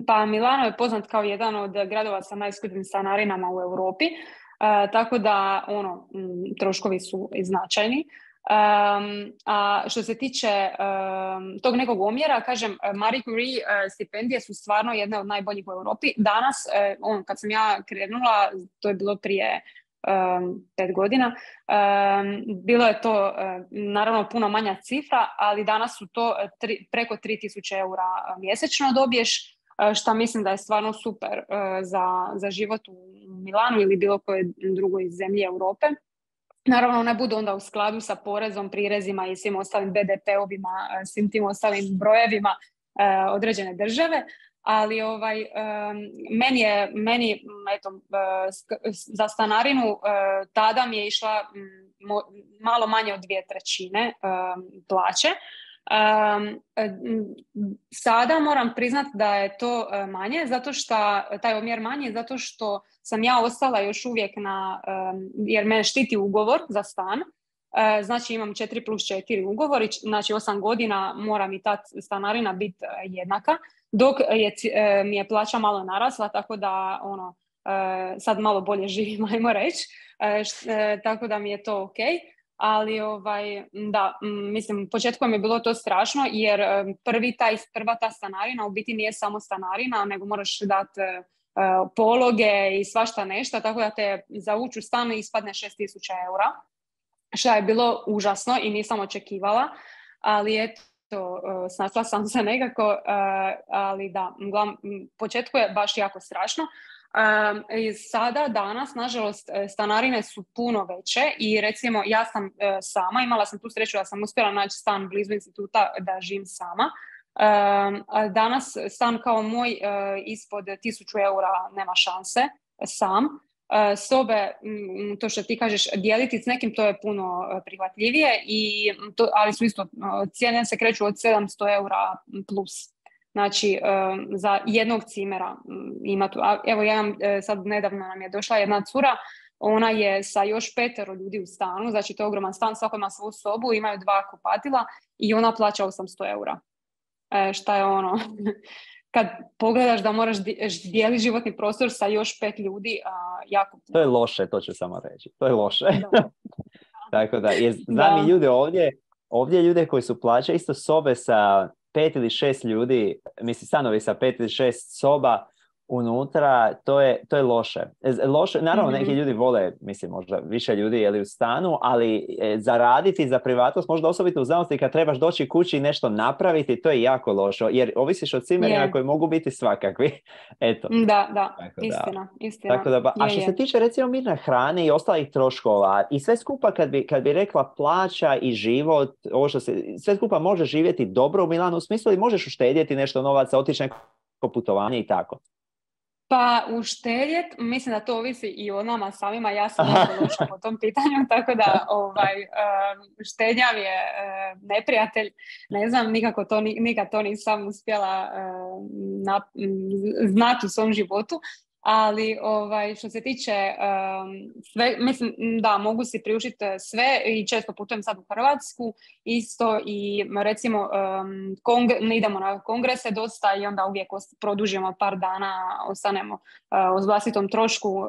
Pa Milano je poznat kao jedan od gradova sa najskupljim stanarinama u Europi. Uh, tako da ono, m, troškovi su značajni. Um, a što se tiče um, tog nekog omjera, kažem, Marie Curie uh, stipendije su stvarno jedne od najboljih u Europi. Danas, uh, on, kad sam ja krenula, to je bilo prije um, pet godina, um, bilo je to uh, naravno puno manja cifra, ali danas su to tri, preko tri tisuće eura mjesečno dobiješ, uh, što mislim da je stvarno super uh, za, za život u Milanu ili bilo koje drugoj zemlji Europe. Naravno, ne budu onda u skladu sa porezom, prirezima i svim ostalim be de pe-ovima, svim tim ostalim brojevima uh, određene države, ali ovaj, um, meni je, meni, eto, uh, za stanarinu uh, tada mi je išla um, malo manje od dvije trećine um, plaće. Um, sada moram priznati da je to manje, zato što taj omjer manje, zato što sam ja ostala još uvijek na, um, jer me štiti ugovor za stan, uh, znači imam četiri plus četiri ugovori, znači osam godina mora mi ta stanarina biti jednaka, dok je, mi je plaća malo narasla, tako da ono, uh, sad malo bolje živim, ajmo reći, uh, š, uh, tako da mi je to ok. Ali ovaj, da, mislim, početkom je bilo to strašno jer prvi taj, prva ta stanarina u biti nije samo stanarina, nego moraš dati uh, pologe i svašta nešto, tako da te za ući u stan ispadne šest tisuća eura, što je bilo užasno i nisam očekivala, ali eto, uh, snašla sam se nekako, uh, ali da, uglavnom, početku je baš jako strašno. Um, i sada, danas, nažalost, stanarine su puno veće i recimo ja sam uh, sama, imala sam tu sreću da sam uspjela naći stan blizu instituta da živim sama. Um, a danas stan kao moj uh, ispod tisuću eura nema šanse sam. Uh, sobe, m, to što ti kažeš, dijeliti s nekim, to je puno uh, prihvatljivije, i to, ali su isto, uh, cijene se kreću od sedamsto eura plus. Znači, um, za jednog cimera ima tu. A, evo, ja imam, sad nedavno nam je došla jedna cura, ona je sa još petero ljudi u stanu, znači to je ogroman stan, svako ima svoju sobu, imaju dva kupatila i ona plaća osamsto eura. E, šta je ono, kad pogledaš da moraš dijeliti životni prostor sa još pet ljudi, a, jako puno. To je loše, to ću samo reći. To je loše. Tako da, je, znam i ljude ovdje, ovdje ljude koji su plaćaju isto sobe sa pet ili šest ljudi, mislim stanovi sa pet ili šest soba unutra, to je, to je loše. loše. Naravno, mm-hmm. neki ljudi vole, mislim, možda više ljudi je li u stanu, ali e, zaraditi za privatnost, možda osobito u znanosti kad trebaš doći kući i nešto napraviti, to je jako loše, jer ovisiš od cimerima yeah. koji mogu biti svakakvi. Eto. Da, da, tako istina, da. istina. Tako da, ba, a što je, se tiče recimo mirne hrane i ostalih troškova, i sve skupa kad bi, kad bi rekla plaća i život, ovo što se, sve skupa može živjeti dobro u Milanu, u smislu i možeš uštedjeti nešto novaca, otići neko putovanje i tako. Pa uštedjet, mislim da to ovisi i o nama samima, ja sam jako loša po tom pitanju, tako da ovaj, um, štednja mi je uh, neprijatelj, ne znam, nikako to, nikad to nisam uspjela uh, na, znati u svom životu, ali ovaj, što se tiče um, sve, mislim da mogu si priuštiti sve i često putujem sad u Hrvatsku isto i recimo um, kongre, idemo na kongrese dosta i onda uvijek produžimo par dana, ostanemo uh, u vlastitom trošku uh,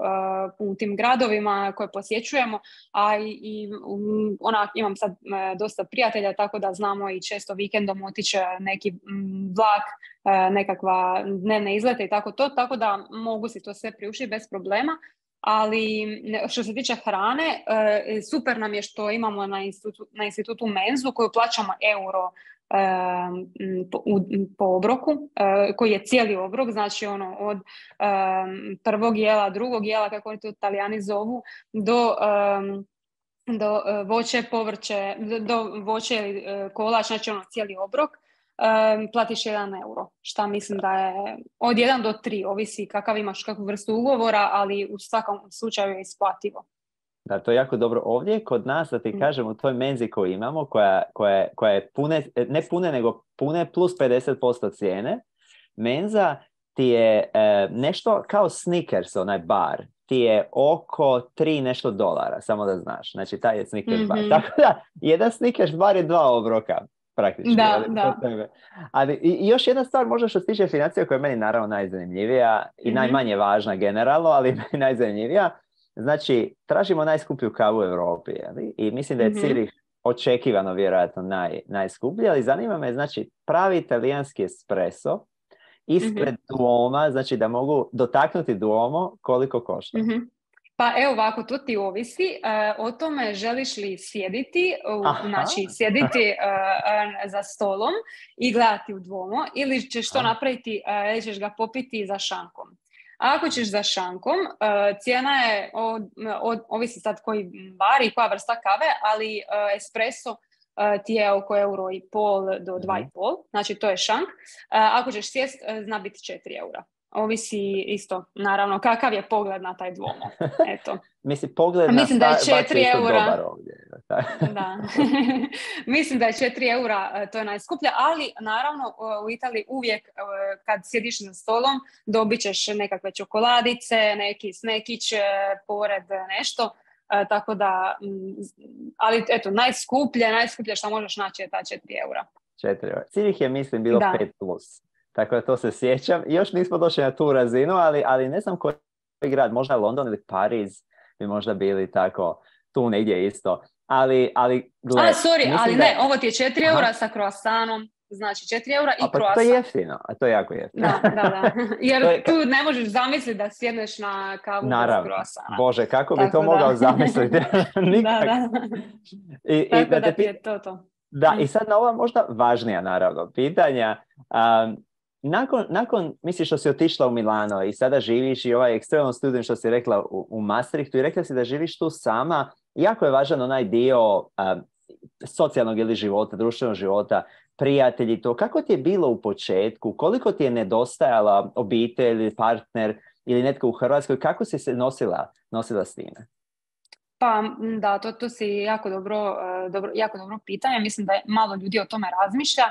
u tim gradovima koje posjećujemo, a i, i um, ona, imam sad uh, dosta prijatelja, tako da znamo i često vikendom otići neki um, vlak, uh, nekakva dnevne izlete i tako to, tako da mogu si to sve priuštiti bez problema. Ali što se tiče hrane, super nam je što imamo na institutu, na institutu menzu koju plaćamo euro po, po obroku, koji je cijeli obrok, znači ono od prvog jela, drugog jela, kako oni to Talijani zovu, do do voće, povrće, do voće ili kolač, znači ono cijeli obrok. Um, platiš jedan euro, šta mislim da je od jedan do tri, ovisi kakav imaš, kakvu vrstu ugovora, ali u svakom slučaju je isplativo. Da, to je jako dobro. Ovdje kod nas, da ti kažem, u toj menzi koju imamo, koja, koja, koja je pune, ne pune, nego pune plus pedeset posto cijene, menza ti je e, nešto kao Snickers, onaj bar, ti je oko tri nešto dolara, samo da znaš. Znači, taj je Snickers mm-hmm. bar. Tako da, jedan Snickers bar je dva obroka. Praktički. Da, ali, da. ali i, i još jedna stvar možda što se tiče financija koja je meni naravno najzanimljivija i mm-hmm. najmanje važna generalno, ali najzanimljivija. Znači, tražimo najskuplju kavu u Europi. Ali? I mislim da je mm-hmm. Cirih očekivano vjerojatno naj, najskuplji, ali zanima me, znači, pravi italijanski espresso ispred mm-hmm. Duoma, znači da mogu dotaknuti Duomo koliko košta. Mm-hmm. Pa evo ovako, to ti ovisi uh, o tome želiš li sjediti, uh, znači sjediti uh, uh, za stolom i gledati u Duomo, ili ćeš to Aha. napraviti, uh, ili ćeš ga popiti za šankom. A ako ćeš za šankom, uh, cijena je, od, od, ovisi sad koji bar i koja vrsta kave, ali uh, espresso uh, ti je oko euro i pol do dva i pol, znači to je šank. Uh, ako ćeš sjest, uh, zna biti četiri eura. ovisi isto, naravno, kakav je pogled na taj Duomo. Eto. Mislim, pogled na Mislim da je Starbucks je četiri isto eura. dobar ovdje. Da. Mislim da je četiri eura, to je najskuplje, ali naravno u Italiji uvijek kad sjediš za stolom dobit ćeš nekakve čokoladice, neki snekić pored nešto. Uh, tako da, ali eto, najskuplje, najskuplje što možeš naći je ta četiri eura. četiri eura. Cirih je, mislim, bilo da. pet plus. Tako da to se sjećam. Još nismo došli na tu razinu, ali, ali ne znam koji grad, možda London ili Pariz bi možda bili tako, tu negdje isto. Ali, ali gle, A, sorry, ali da... ne, ovo ti je četiri eura sa croissantom. Znači četiri eura i a, pa croissant. to je jeftino, a to je jako jeftino. Da, da, da. Jer je... tu ne možeš zamisliti da sjedneš na kavu Naravno. bez croissanta. Bože, kako Tako bi to da. mogao zamisliti? Nikak. Da, da. I, Tako i, da, da te... ti je to to. Da, i sad na ova možda važnija, naravno, pitanja. Um, nakon, nakon, misliš što si otišla u Milano i sada živiš i ovaj external student što si rekla u, u Maastrichtu i rekla si da živiš tu sama, jako je važan onaj dio um, socijalnog ili života, društvenog života, prijatelji, to. Kako ti je bilo u početku? Koliko ti je nedostajala obitelj, partner ili netko u Hrvatskoj? Kako si se nosila, nosila s time? Pa da, to, to si jako dobro, dobro, jako dobro pitanje. Mislim da je malo ljudi o tome razmišlja.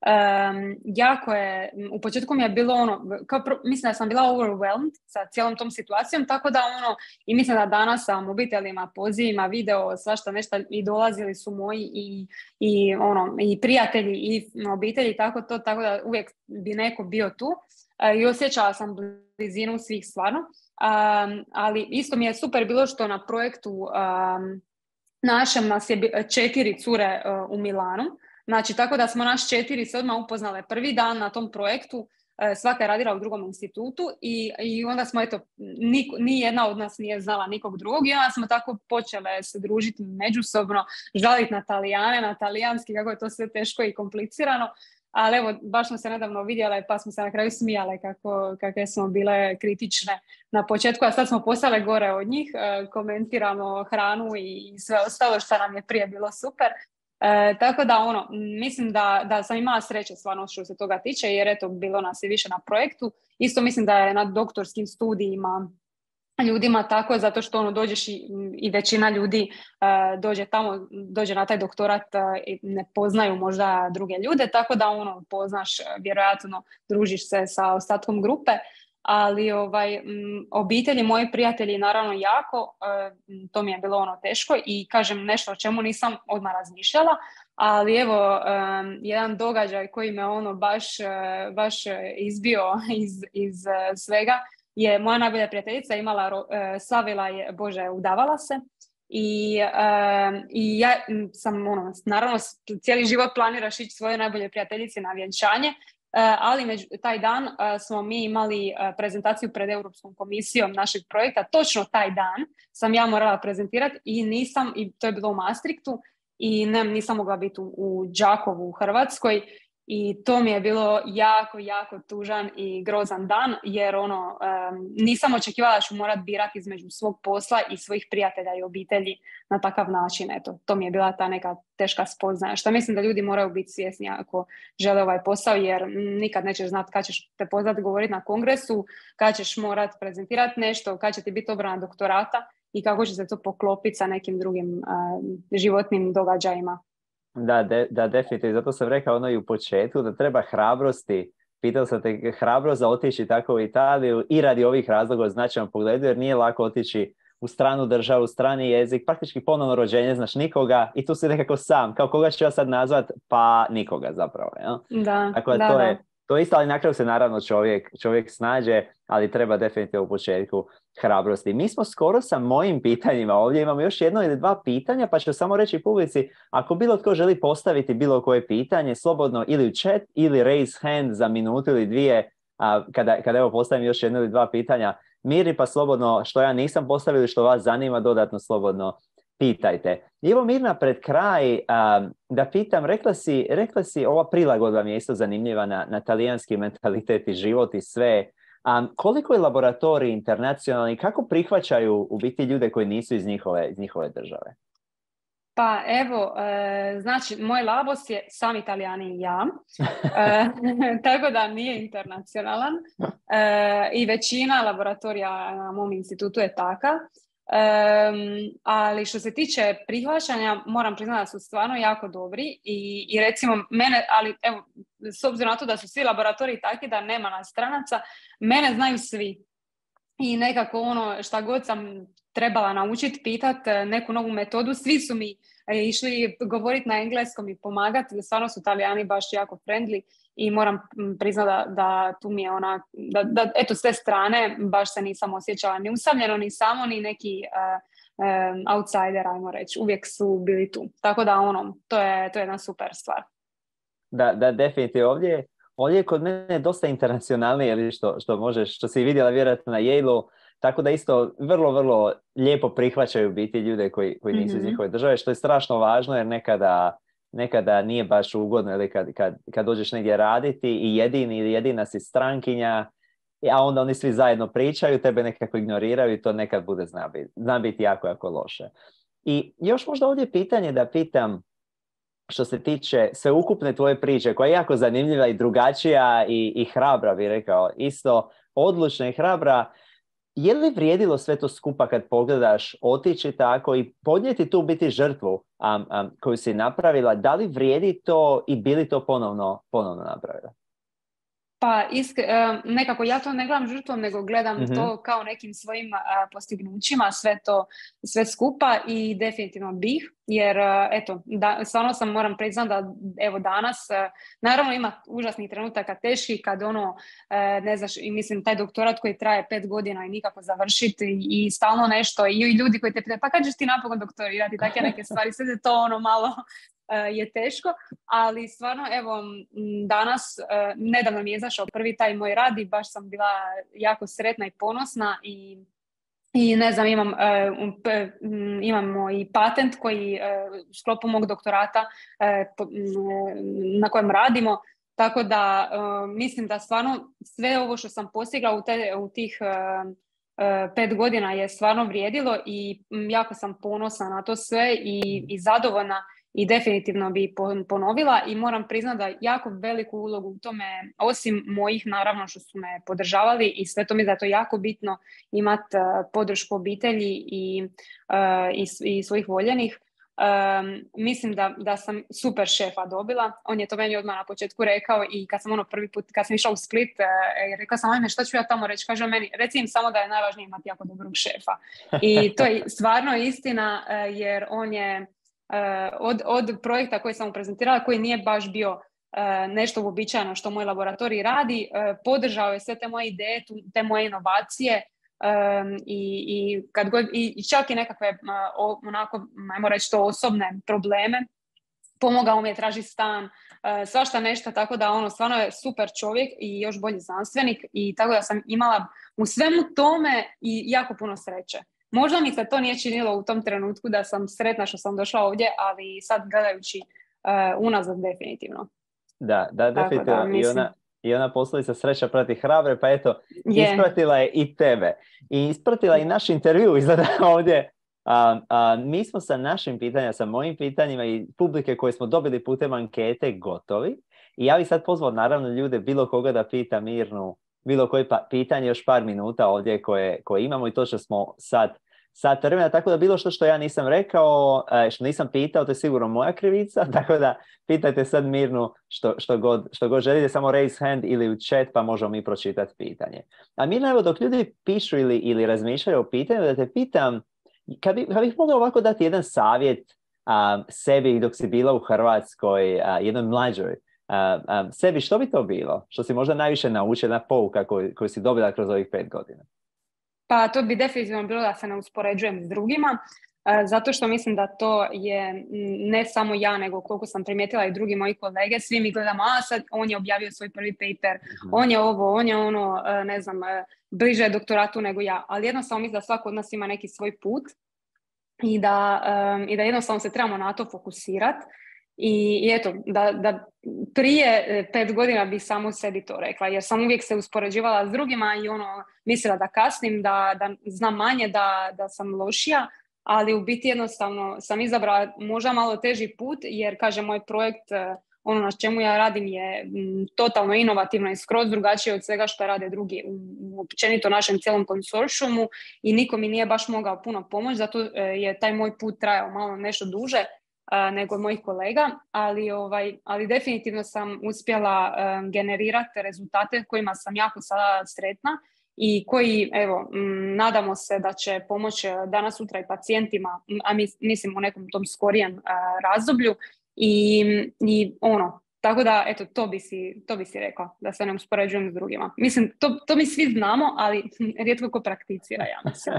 Um, jako je, u početku mi je bilo ono, kao pro, mislim da sam bila overwhelmed sa cijelom tom situacijom, tako da ono, i mislim da danas sa mobitelima, pozivima, video, svašta nešto i dolazili su moji i, i ono, i prijatelji i obitelji, tako to, tako da uvijek bi neko bio tu uh, i osjećala sam blizinu svih stvarno, um, ali isto mi je super bilo što na projektu um, našem nas je četiri cure uh, u Milanu. Znači, tako da smo naš četiri se odmah upoznale prvi dan na tom projektu, svaka je radila u drugom institutu i, i onda smo, eto, nik, ni jedna od nas nije znala nikog drugog i onda smo tako počele se družiti međusobno, žaliti na Talijane, na talijanski, kako je to sve teško i komplicirano, ali evo, baš smo se nedavno vidjele pa smo se na kraju smijale kako, kakve smo bile kritične na početku, a sad smo postale gore od njih, komentiramo hranu i sve ostalo što nam je prije bilo super. E, tako da ono, mislim da, da sam imala sreće stvarno što se toga tiče, jer eto, bilo nas je više na projektu. Isto mislim da je na doktorskim studijima ljudima tako, zato što ono, dođeš i, i većina ljudi uh, dođe tamo, dođe na taj doktorat uh, i ne poznaju možda druge ljude, tako da ono, poznaš, vjerojatno družiš se sa ostatkom grupe. Ali ovaj, m, obitelji, moji prijatelji naravno jako, e, to mi je bilo ono teško i kažem nešto o čemu nisam odmah razmišljala, ali evo, e, jedan događaj koji me ono baš, e, baš izbio iz, iz svega je moja najbolja prijateljica imala, e, slavila je, bože, udavala se i, e, i ja sam ono, naravno cijeli život planiraš ići svoje najbolje prijateljice na vjenčanje. Uh, ali među, taj dan uh, smo mi imali uh, prezentaciju pred Europskom komisijom našeg projekta. Točno taj dan sam ja morala prezentirati i nisam, i to je bilo u Maastrichtu, i ne, nisam mogla biti u, u Đakovu u Hrvatskoj i to mi je bilo jako, jako tužan i grozan dan, jer ono, um, nisam očekivala da ću morat birati između svog posla i svojih prijatelja i obitelji na takav način. Eto, to mi je bila ta neka teška spoznaja, što mislim da ljudi moraju biti svjesni ako žele ovaj posao, jer nikad nećeš znati kad ćeš te pozvati govoriti na kongresu, kad ćeš morat prezentirati nešto, kad će ti biti obrana doktorata i kako će se to poklopiti sa nekim drugim uh, životnim događajima. Da, de, da, definitivno. Zato sam rekao ono i u početku da treba hrabrosti. Pitao sam te hrabrost za otići tako u Italiju i radi ovih razloga u značajnom pogledu, jer nije lako otići u stranu državu, strani jezik, praktički ponovno rođenje, znaš nikoga i tu si nekako sam. Kao koga ću ja sad nazvat? Pa nikoga zapravo. Ja? Da, tako da, to da. je to isto, ali na kraju se naravno čovjek, čovjek snađe, ali treba definitivno u početku hrabrosti. Mi smo skoro sa mojim pitanjima, ovdje imamo još jedno ili dva pitanja, pa ću samo reći publici, ako bilo tko želi postaviti bilo koje pitanje, slobodno ili u chat ili raise hand za minutu ili dvije, a, kada, kada evo postavim još jedno ili dva pitanja, Miri, pa slobodno što ja nisam postavio ili što vas zanima, dodatno slobodno pitajte. I evo Mirna, pred kraj um, da pitam, rekla si, rekla si ova prilagodba mi je isto zanimljiva na, na talijanski mentalitet i život i sve. Um, koliko je laboratorij internacionalni, kako prihvaćaju u biti ljude koji nisu iz njihove, iz njihove države? Pa evo, e, znači, moj labos je sam Italijani i ja, e, tako da nije internacionalan e, i većina laboratorija na mom institutu je taka. Um, ali što se tiče prihvaćanja, moram priznati da su stvarno jako dobri i, i recimo mene, ali evo, s obzirom na to da su svi laboratoriji takvi da nema nas stranaca, mene znaju svi i nekako ono šta god sam trebala naučiti, pitat neku novu metodu, svi su mi išli govoriti na engleskom i pomagati, stvarno su Italijani baš jako friendly i moram priznati da, da tu mi je ona, da, da eto s te strane baš se nisam osjećala ni usamljeno, ni samo, ni neki uh, um, outsider, ajmo reći, uvijek su bili tu. Tako da ono, to je, to je jedna super stvar. Da, da, definitivno. Ovdje, ovdje je kod mene dosta internacionalnije, ili što, što možeš, što si vidjela vjerojatno na Yale-u, tako da isto vrlo, vrlo lijepo prihvaćaju biti ljude koji, koji nisu mm-hmm. iz njihove države, što je strašno važno jer nekada, nekada nije baš ugodno ili kad, kad, kad dođeš negdje raditi i jedini ili jedina si strankinja, a onda oni svi zajedno pričaju, tebe nekako ignoriraju i to nekad bude zna biti, zna biti jako, jako loše. I još možda ovdje pitanje da pitam što se tiče sveukupne tvoje priče, koja je jako zanimljiva i drugačija i, i hrabra, bih rekao, isto odlučna i hrabra. Je li vrijedilo sve to skupa kad pogledaš otići tako i podnijeti tu biti žrtvu um, um, koju si napravila? Da li vrijedi to i bi li to ponovno, ponovno napravila? Pa isk, nekako ja to ne gledam žrtvom, nego gledam mm-hmm. to kao nekim svojim postignućima, sve to, sve skupa i definitivno bih, jer eto, da, stvarno sam moram priznati da evo danas, naravno ima užasnih trenutaka teških kad ono, ne znaš, i mislim taj doktorat koji traje pet godina i nikako završiti i stalno nešto i ljudi koji te pitaju, pa kad ćeš ti napokon doktorirati, takve neke stvari, sve je to ono malo je teško, ali stvarno evo danas, nedavno mi je izašao prvi taj moj rad i baš sam bila jako sretna i ponosna i, i ne znam, imam, imamo i patent koji u sklopu mog doktorata na kojem radimo, tako da mislim da stvarno sve ovo što sam postigla u, te, u tih pet godina je stvarno vrijedilo i jako sam ponosna na to sve i, i zadovoljna. I definitivno bi ponovila i moram priznati da jako veliku ulogu u tome, osim mojih naravno što su me podržavali i sve to mi da je to jako bitno imati uh, podršku obitelji i, uh, i, i svojih voljenih. Um, mislim da, da sam super šefa dobila. On je to meni odmah na početku rekao i kad sam ono prvi put, kad sam išla u Split, uh, rekao sam, ajme, šta ću ja tamo reći? Kaže meni, reci im samo da je najvažnije imati jako dobrog šefa. I to je stvarno istina uh, jer on je Uh, od, od projekta koji sam mu prezentirala, koji nije baš bio uh, nešto uobičajeno što moj laboratorij radi, uh, podržao je sve te moje ideje, tu, te moje inovacije um, i, i, kad god, i čak i nekakve uh, o, onako, ajmo reći to, osobne probleme. Pomogao mi je tražiti stan, uh, svašta nešto, tako da ono stvarno je super čovjek i još bolji znanstvenik i tako da sam imala u svemu tome i jako puno sreće. Možda mi se to nije činilo u tom trenutku da sam sretna što sam došla ovdje, ali sad gledajući uh, unazad definitivno. Da, da, definitivno. Da, I ona, i ona poslovica sreća prati hrabre, pa eto, je. Ispratila je i tebe. I ispratila i naš intervju izgleda ovdje. A, a, mi smo sa našim pitanjima, sa mojim pitanjima i publike koje smo dobili putem ankete gotovi. I ja bih sad pozvao naravno ljude, bilo koga da pita Mirnu, bilo koje pa, pitanje, još par minuta ovdje koje, koje imamo i to što smo sad sat vremena, tako da bilo što što ja nisam rekao, što nisam pitao, to je sigurno moja krivica, tako da pitajte sad Mirnu što, što, god, što god želite, samo raise hand ili u chat pa možemo mi pročitati pitanje. A Mirna, evo dok ljudi pišu ili, ili razmišljaju o pitanju, da te pitam, kad, bi, kad bih mogla ovako dati jedan savjet um, sebi dok si bila u Hrvatskoj, uh, jednoj mlađoj, uh, um, sebi, što bi to bilo? Što si možda najviše naučila, pouka koju, koju si dobila kroz ovih pet godina? Pa to bi definitivno bilo da se ne uspoređujem s drugima, zato što mislim da to je ne samo ja, nego koliko sam primijetila i drugi moji kolege, svi mi gledamo, a sad on je objavio svoj prvi paper, mm-hmm. on je ovo, on je ono, ne znam, bliže doktoratu nego ja, ali jednostavno mislim da svako od nas ima neki svoj put i da, um, i da jednostavno se trebamo na to fokusirati. I, i eto, da, da prije pet godina bi samo sebi to rekla, jer sam uvijek se uspoređivala s drugima i ono, mislila da kasnim, da, da znam manje, da, da sam lošija, ali u biti jednostavno sam izabrala možda malo teži put, jer kaže moj projekt, ono na čemu ja radim je m, totalno inovativno i skroz drugačije od svega što rade drugi u, u općenito našem cijelom konsorcijumu i niko mi nije baš mogao puno pomoći, zato je taj moj put trajao malo nešto duže Uh, nego mojih kolega, ali, ovaj, ali definitivno sam uspjela um, generirati rezultate kojima sam jako sada sretna i koji, evo, m, nadamo se da će pomoći danas sutra i pacijentima, a mis, mislim u nekom tom skorijem uh, razdoblju i, i ono, tako da, eto, to bi si, to bi si rekla, da se ne uspoređujem s drugima. Mislim, to, to mi svi znamo, ali rijetko ko prakticira, ja mislim.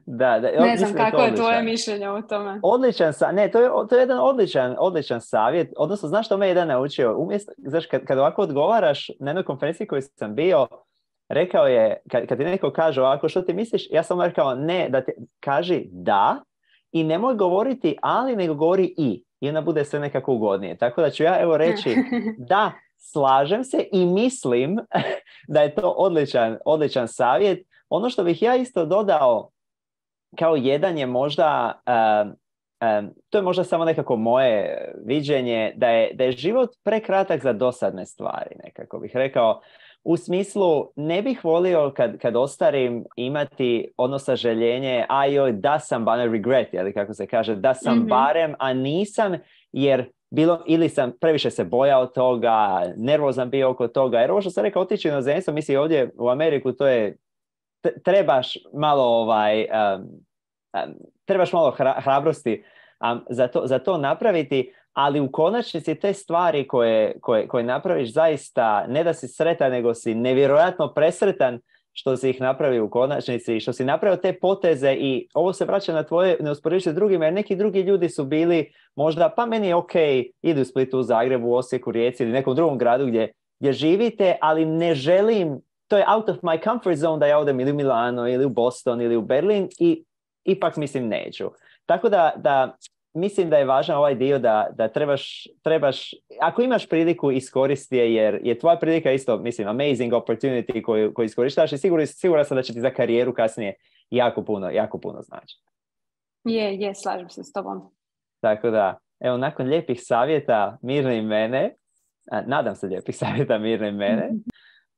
Da, da, ne znam kako je odličan. Tvoje mišljenje o tome. Odličan, ne, to je, to je jedan odličan, odličan savjet, odnosno znaš što me jedan naučio, umjesto, znaš, kad, kad ovako odgovaraš na jednoj konferenciji koju sam bio, rekao je, kad, kad ti neko kaže ovako što ti misliš, ja sam rekao ne, da ti kaži da i nemoj govoriti ali, nego govori i, i onda bude sve nekako ugodnije, tako da ću ja evo reći da, slažem se i mislim da je to odličan, odličan savjet. Ono što bih ja isto dodao kao jedan je možda, um, um, to je možda samo nekako moje viđenje, da je, da je život prekratak za dosadne stvari, nekako bih rekao. U smislu, ne bih volio kad, kad ostarim imati ono sažaljenje, a joj, da sam, ba ne regret, ali kako se kaže, da sam mm-hmm. barem, a nisam, jer bilo, ili sam previše se bojao toga, nervozan bio oko toga, jer ovo što sam rekao, otići u inozemstvo, misli ovdje u Ameriku, to je trebaš malo ovaj um, um, trebaš malo hra, hrabrosti um, za, to, za to napraviti, ali u konačnici te stvari koje, koje, koje napraviš zaista ne da si sretan, nego si nevjerojatno presretan što si ih napravio u konačnici, što si napravio te poteze i ovo se vraća na tvoje neusporedivosti s drugima, jer neki drugi ljudi su bili možda, pa meni je ok, idu u Splitu, u Zagrebu, u Osijeku, Rijeci ili nekom drugom gradu gdje, gdje živite, ali ne želim, to je out of my comfort zone da ja odem ili u Milano ili u Boston ili u Berlin i ipak mislim neću. Tako da, da mislim da je važan ovaj dio da, da trebaš, trebaš, ako imaš priliku iskoristi je, jer je tvoja prilika isto, mislim, amazing opportunity koju, koju iskorištavaš i siguran, siguran sam da će ti za karijeru kasnije jako puno, jako puno znači. Je, je, slažem se s tobom. Tako da, evo, nakon lijepih savjeta Mirne i mene, a, nadam se lijepih savjeta Mirne i mene,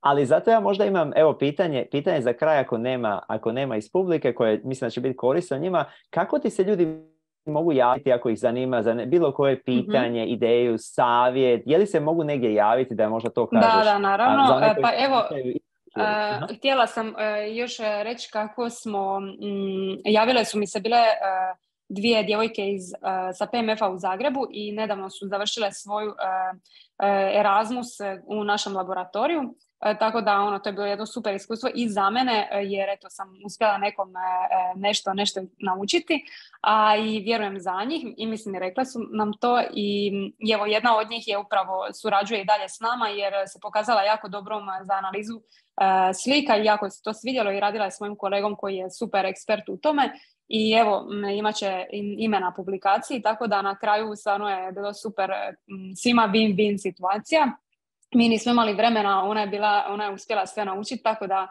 ali zato ja možda imam, evo, pitanje, pitanje za kraj ako nema, ako nema iz publike, koje mislim da će biti korisno njima, kako ti se ljudi mogu javiti ako ih zanima za ne, bilo koje pitanje, mm-hmm. ideju, savjet, je li se mogu negdje javiti da možda to kažeš? Da, da, naravno. A, pa evo, uh, htjela sam uh, još reći kako smo, um, javile su mi se bile uh, dvije djevojke iz, uh, sa P M F-a u Zagrebu i nedavno su završile svoju uh, uh, Erasmus u našem laboratoriju. E, tako da ono, to je bilo jedno super iskustvo i za mene, jer eto sam uspjela nekom e, nešto, nešto naučiti, a i vjerujem za njih i mislim i rekla su nam to i, i evo jedna od njih je upravo surađuje i dalje s nama jer se pokazala jako dobrom za analizu e, slika i jako se to svidjelo i radila je s mojim kolegom koji je super ekspert u tome i evo imat će ime na publikaciji, tako da na kraju stvarno je bilo super, svima win-win situacija. Mi nismo imali vremena, ona je, bila, ona je uspjela sve naučiti, tako da,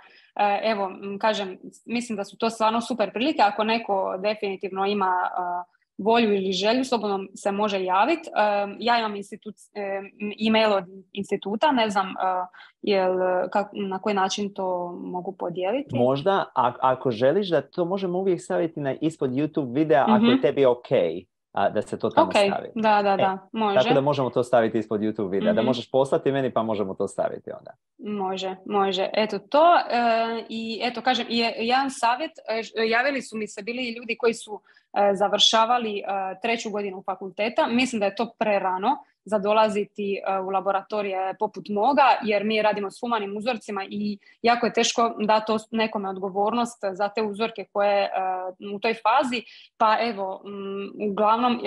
evo, kažem, mislim da su to stvarno super prilike. Ako neko definitivno ima uh, volju ili želju, slobodno se može javiti. Uh, ja imam institut, uh, e-mail od instituta, ne znam uh, jel, kak, na koji način to mogu podijeliti. Možda, a, ako želiš da to možemo uvijek staviti na, ispod YouTube videa, mm-hmm. ako je tebi ok. A, da se to tamo okay. stavi. Da, da, da, e, može. Tako da možemo to staviti ispod YouTube videa. Mm-hmm. Da možeš poslati meni pa možemo to staviti onda. Može, može. Eto to. E, I eto, kažem, i jedan savjet. E, javili su mi se bili ljudi koji su e, završavali e, treću godinu fakulteta. Mislim da je to prerano za dolaziti uh, u laboratorije poput moga, jer mi radimo s humanim uzorcima i jako je teško dati nekome odgovornost za te uzorke koje uh, u toj fazi, pa evo, um, uglavnom uh,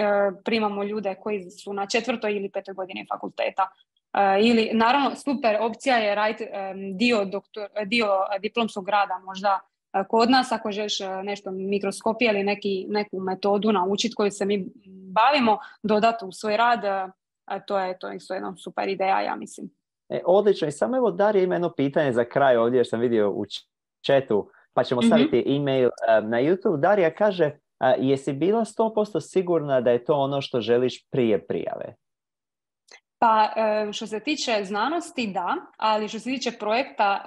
primamo ljude koji su na četvrtoj ili petoj godini fakulteta. Uh, ili, naravno, super opcija je raditi um, dio, doktor, dio diplomskog rada možda uh, kod nas, ako želiš uh, nešto mikroskopije ili neki, neku metodu naučiti koju se mi bavimo, dodati u svoj rad. Uh, A to je to isto jedna super ideja, ja mislim. E, odlično. I samo evo Darija ima jedno pitanje za kraj ovdje, jer sam vidio u chatu, pa ćemo mm-hmm. staviti e-mail um, na YouTube. Darija kaže, A, jesi bila sto posto sigurna da je to ono što želiš prije prijave? Pa što se tiče znanosti, da, ali što se tiče projekta,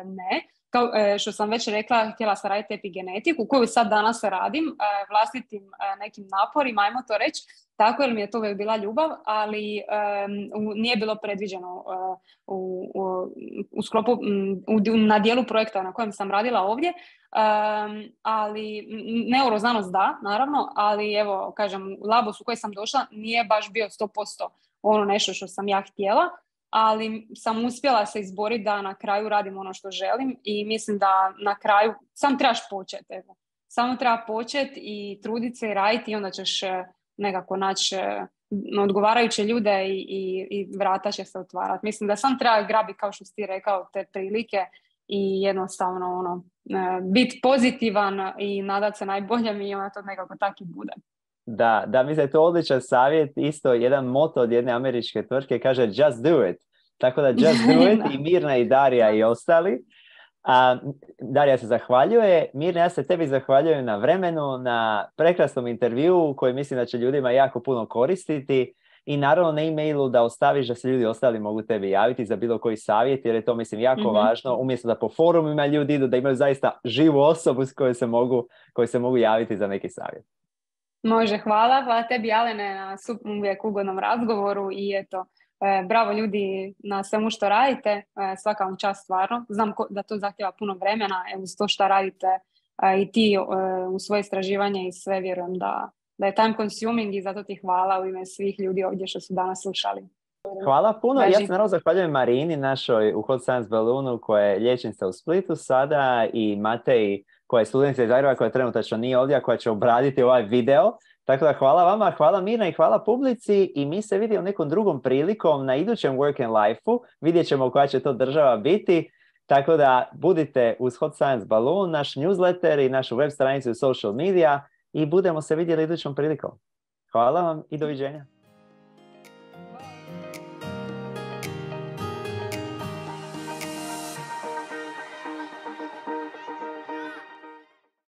ne. Kao što sam već rekla, htjela sam raditi epigenetiku, koju sad danas radim vlastitim nekim naporima, ajmo to reći, tako jer mi je to uvijek bila ljubav, ali um, nije bilo predviđeno uh, u, u, u sklopu, u, na dijelu projekta na kojem sam radila ovdje, um, ali neuroznanost da, naravno, ali evo, kažem, labos u koji sam došla nije baš bio sto posto ono nešto što sam ja htjela, ali sam uspjela se izboriti da na kraju radim ono što želim i mislim da na kraju sam trebaš početi, evo. Samo treba početi i truditi se i raditi i onda ćeš nekako naći odgovarajuće ljude i, i, i vrata će se otvarati. Mislim da sam treba grabiti, kao što si ti rekao, te prilike i jednostavno ono, biti pozitivan i nadat se najboljem i onda to nekako tako i bude. Da, da, mislim da je to odličan savjet, isto jedan moto od jedne američke tvrtke kaže just do it. Tako da just do it i Mirna i Darija i ostali. A, Darija se zahvaljuje. Mirna, ja se tebi zahvaljujem na vremenu, na prekrasnom intervjuu koji mislim da će ljudima jako puno koristiti i naravno na e-mailu da ostaviš da se ljudi ostali mogu tebi javiti za bilo koji savjet jer je to mislim jako mm-hmm. važno. Umjesto da po forumima ljudi idu da imaju zaista živu osobu s kojoj se mogu, kojoj se mogu javiti za neki savjet. Može, hvala. Hvala tebi, Alene, na uvijek ugodnom razgovoru i eto, e, bravo ljudi na svemu što radite. E, svaka vam čast stvarno. Znam ko, da to zahtjeva puno vremena, evo uz to što radite e, i ti e, u svoje istraživanje i sve vjerujem da, da je time consuming i zato ti hvala u ime svih ljudi ovdje što su danas slušali. Hvala puno. Važi. Ja se naravno zahvaljujem Marini, našoj u Hot Science Balloonu, koja je liječnica u Splitu sada, i Mateji, koja je studentica iz Zagreba, koja trenutačno nije ovdje, koja će obraditi ovaj video. Tako da hvala vama, hvala Mirna i hvala publici i mi se vidimo nekom drugom prilikom na idućem Work and Life-u. Vidjet ćemo koja će to država biti. Tako da budite uz Hot Science Balloon, naš newsletter i našu web stranicu social media i budemo se vidjeli idućom prilikom. Hvala vam i doviđenja.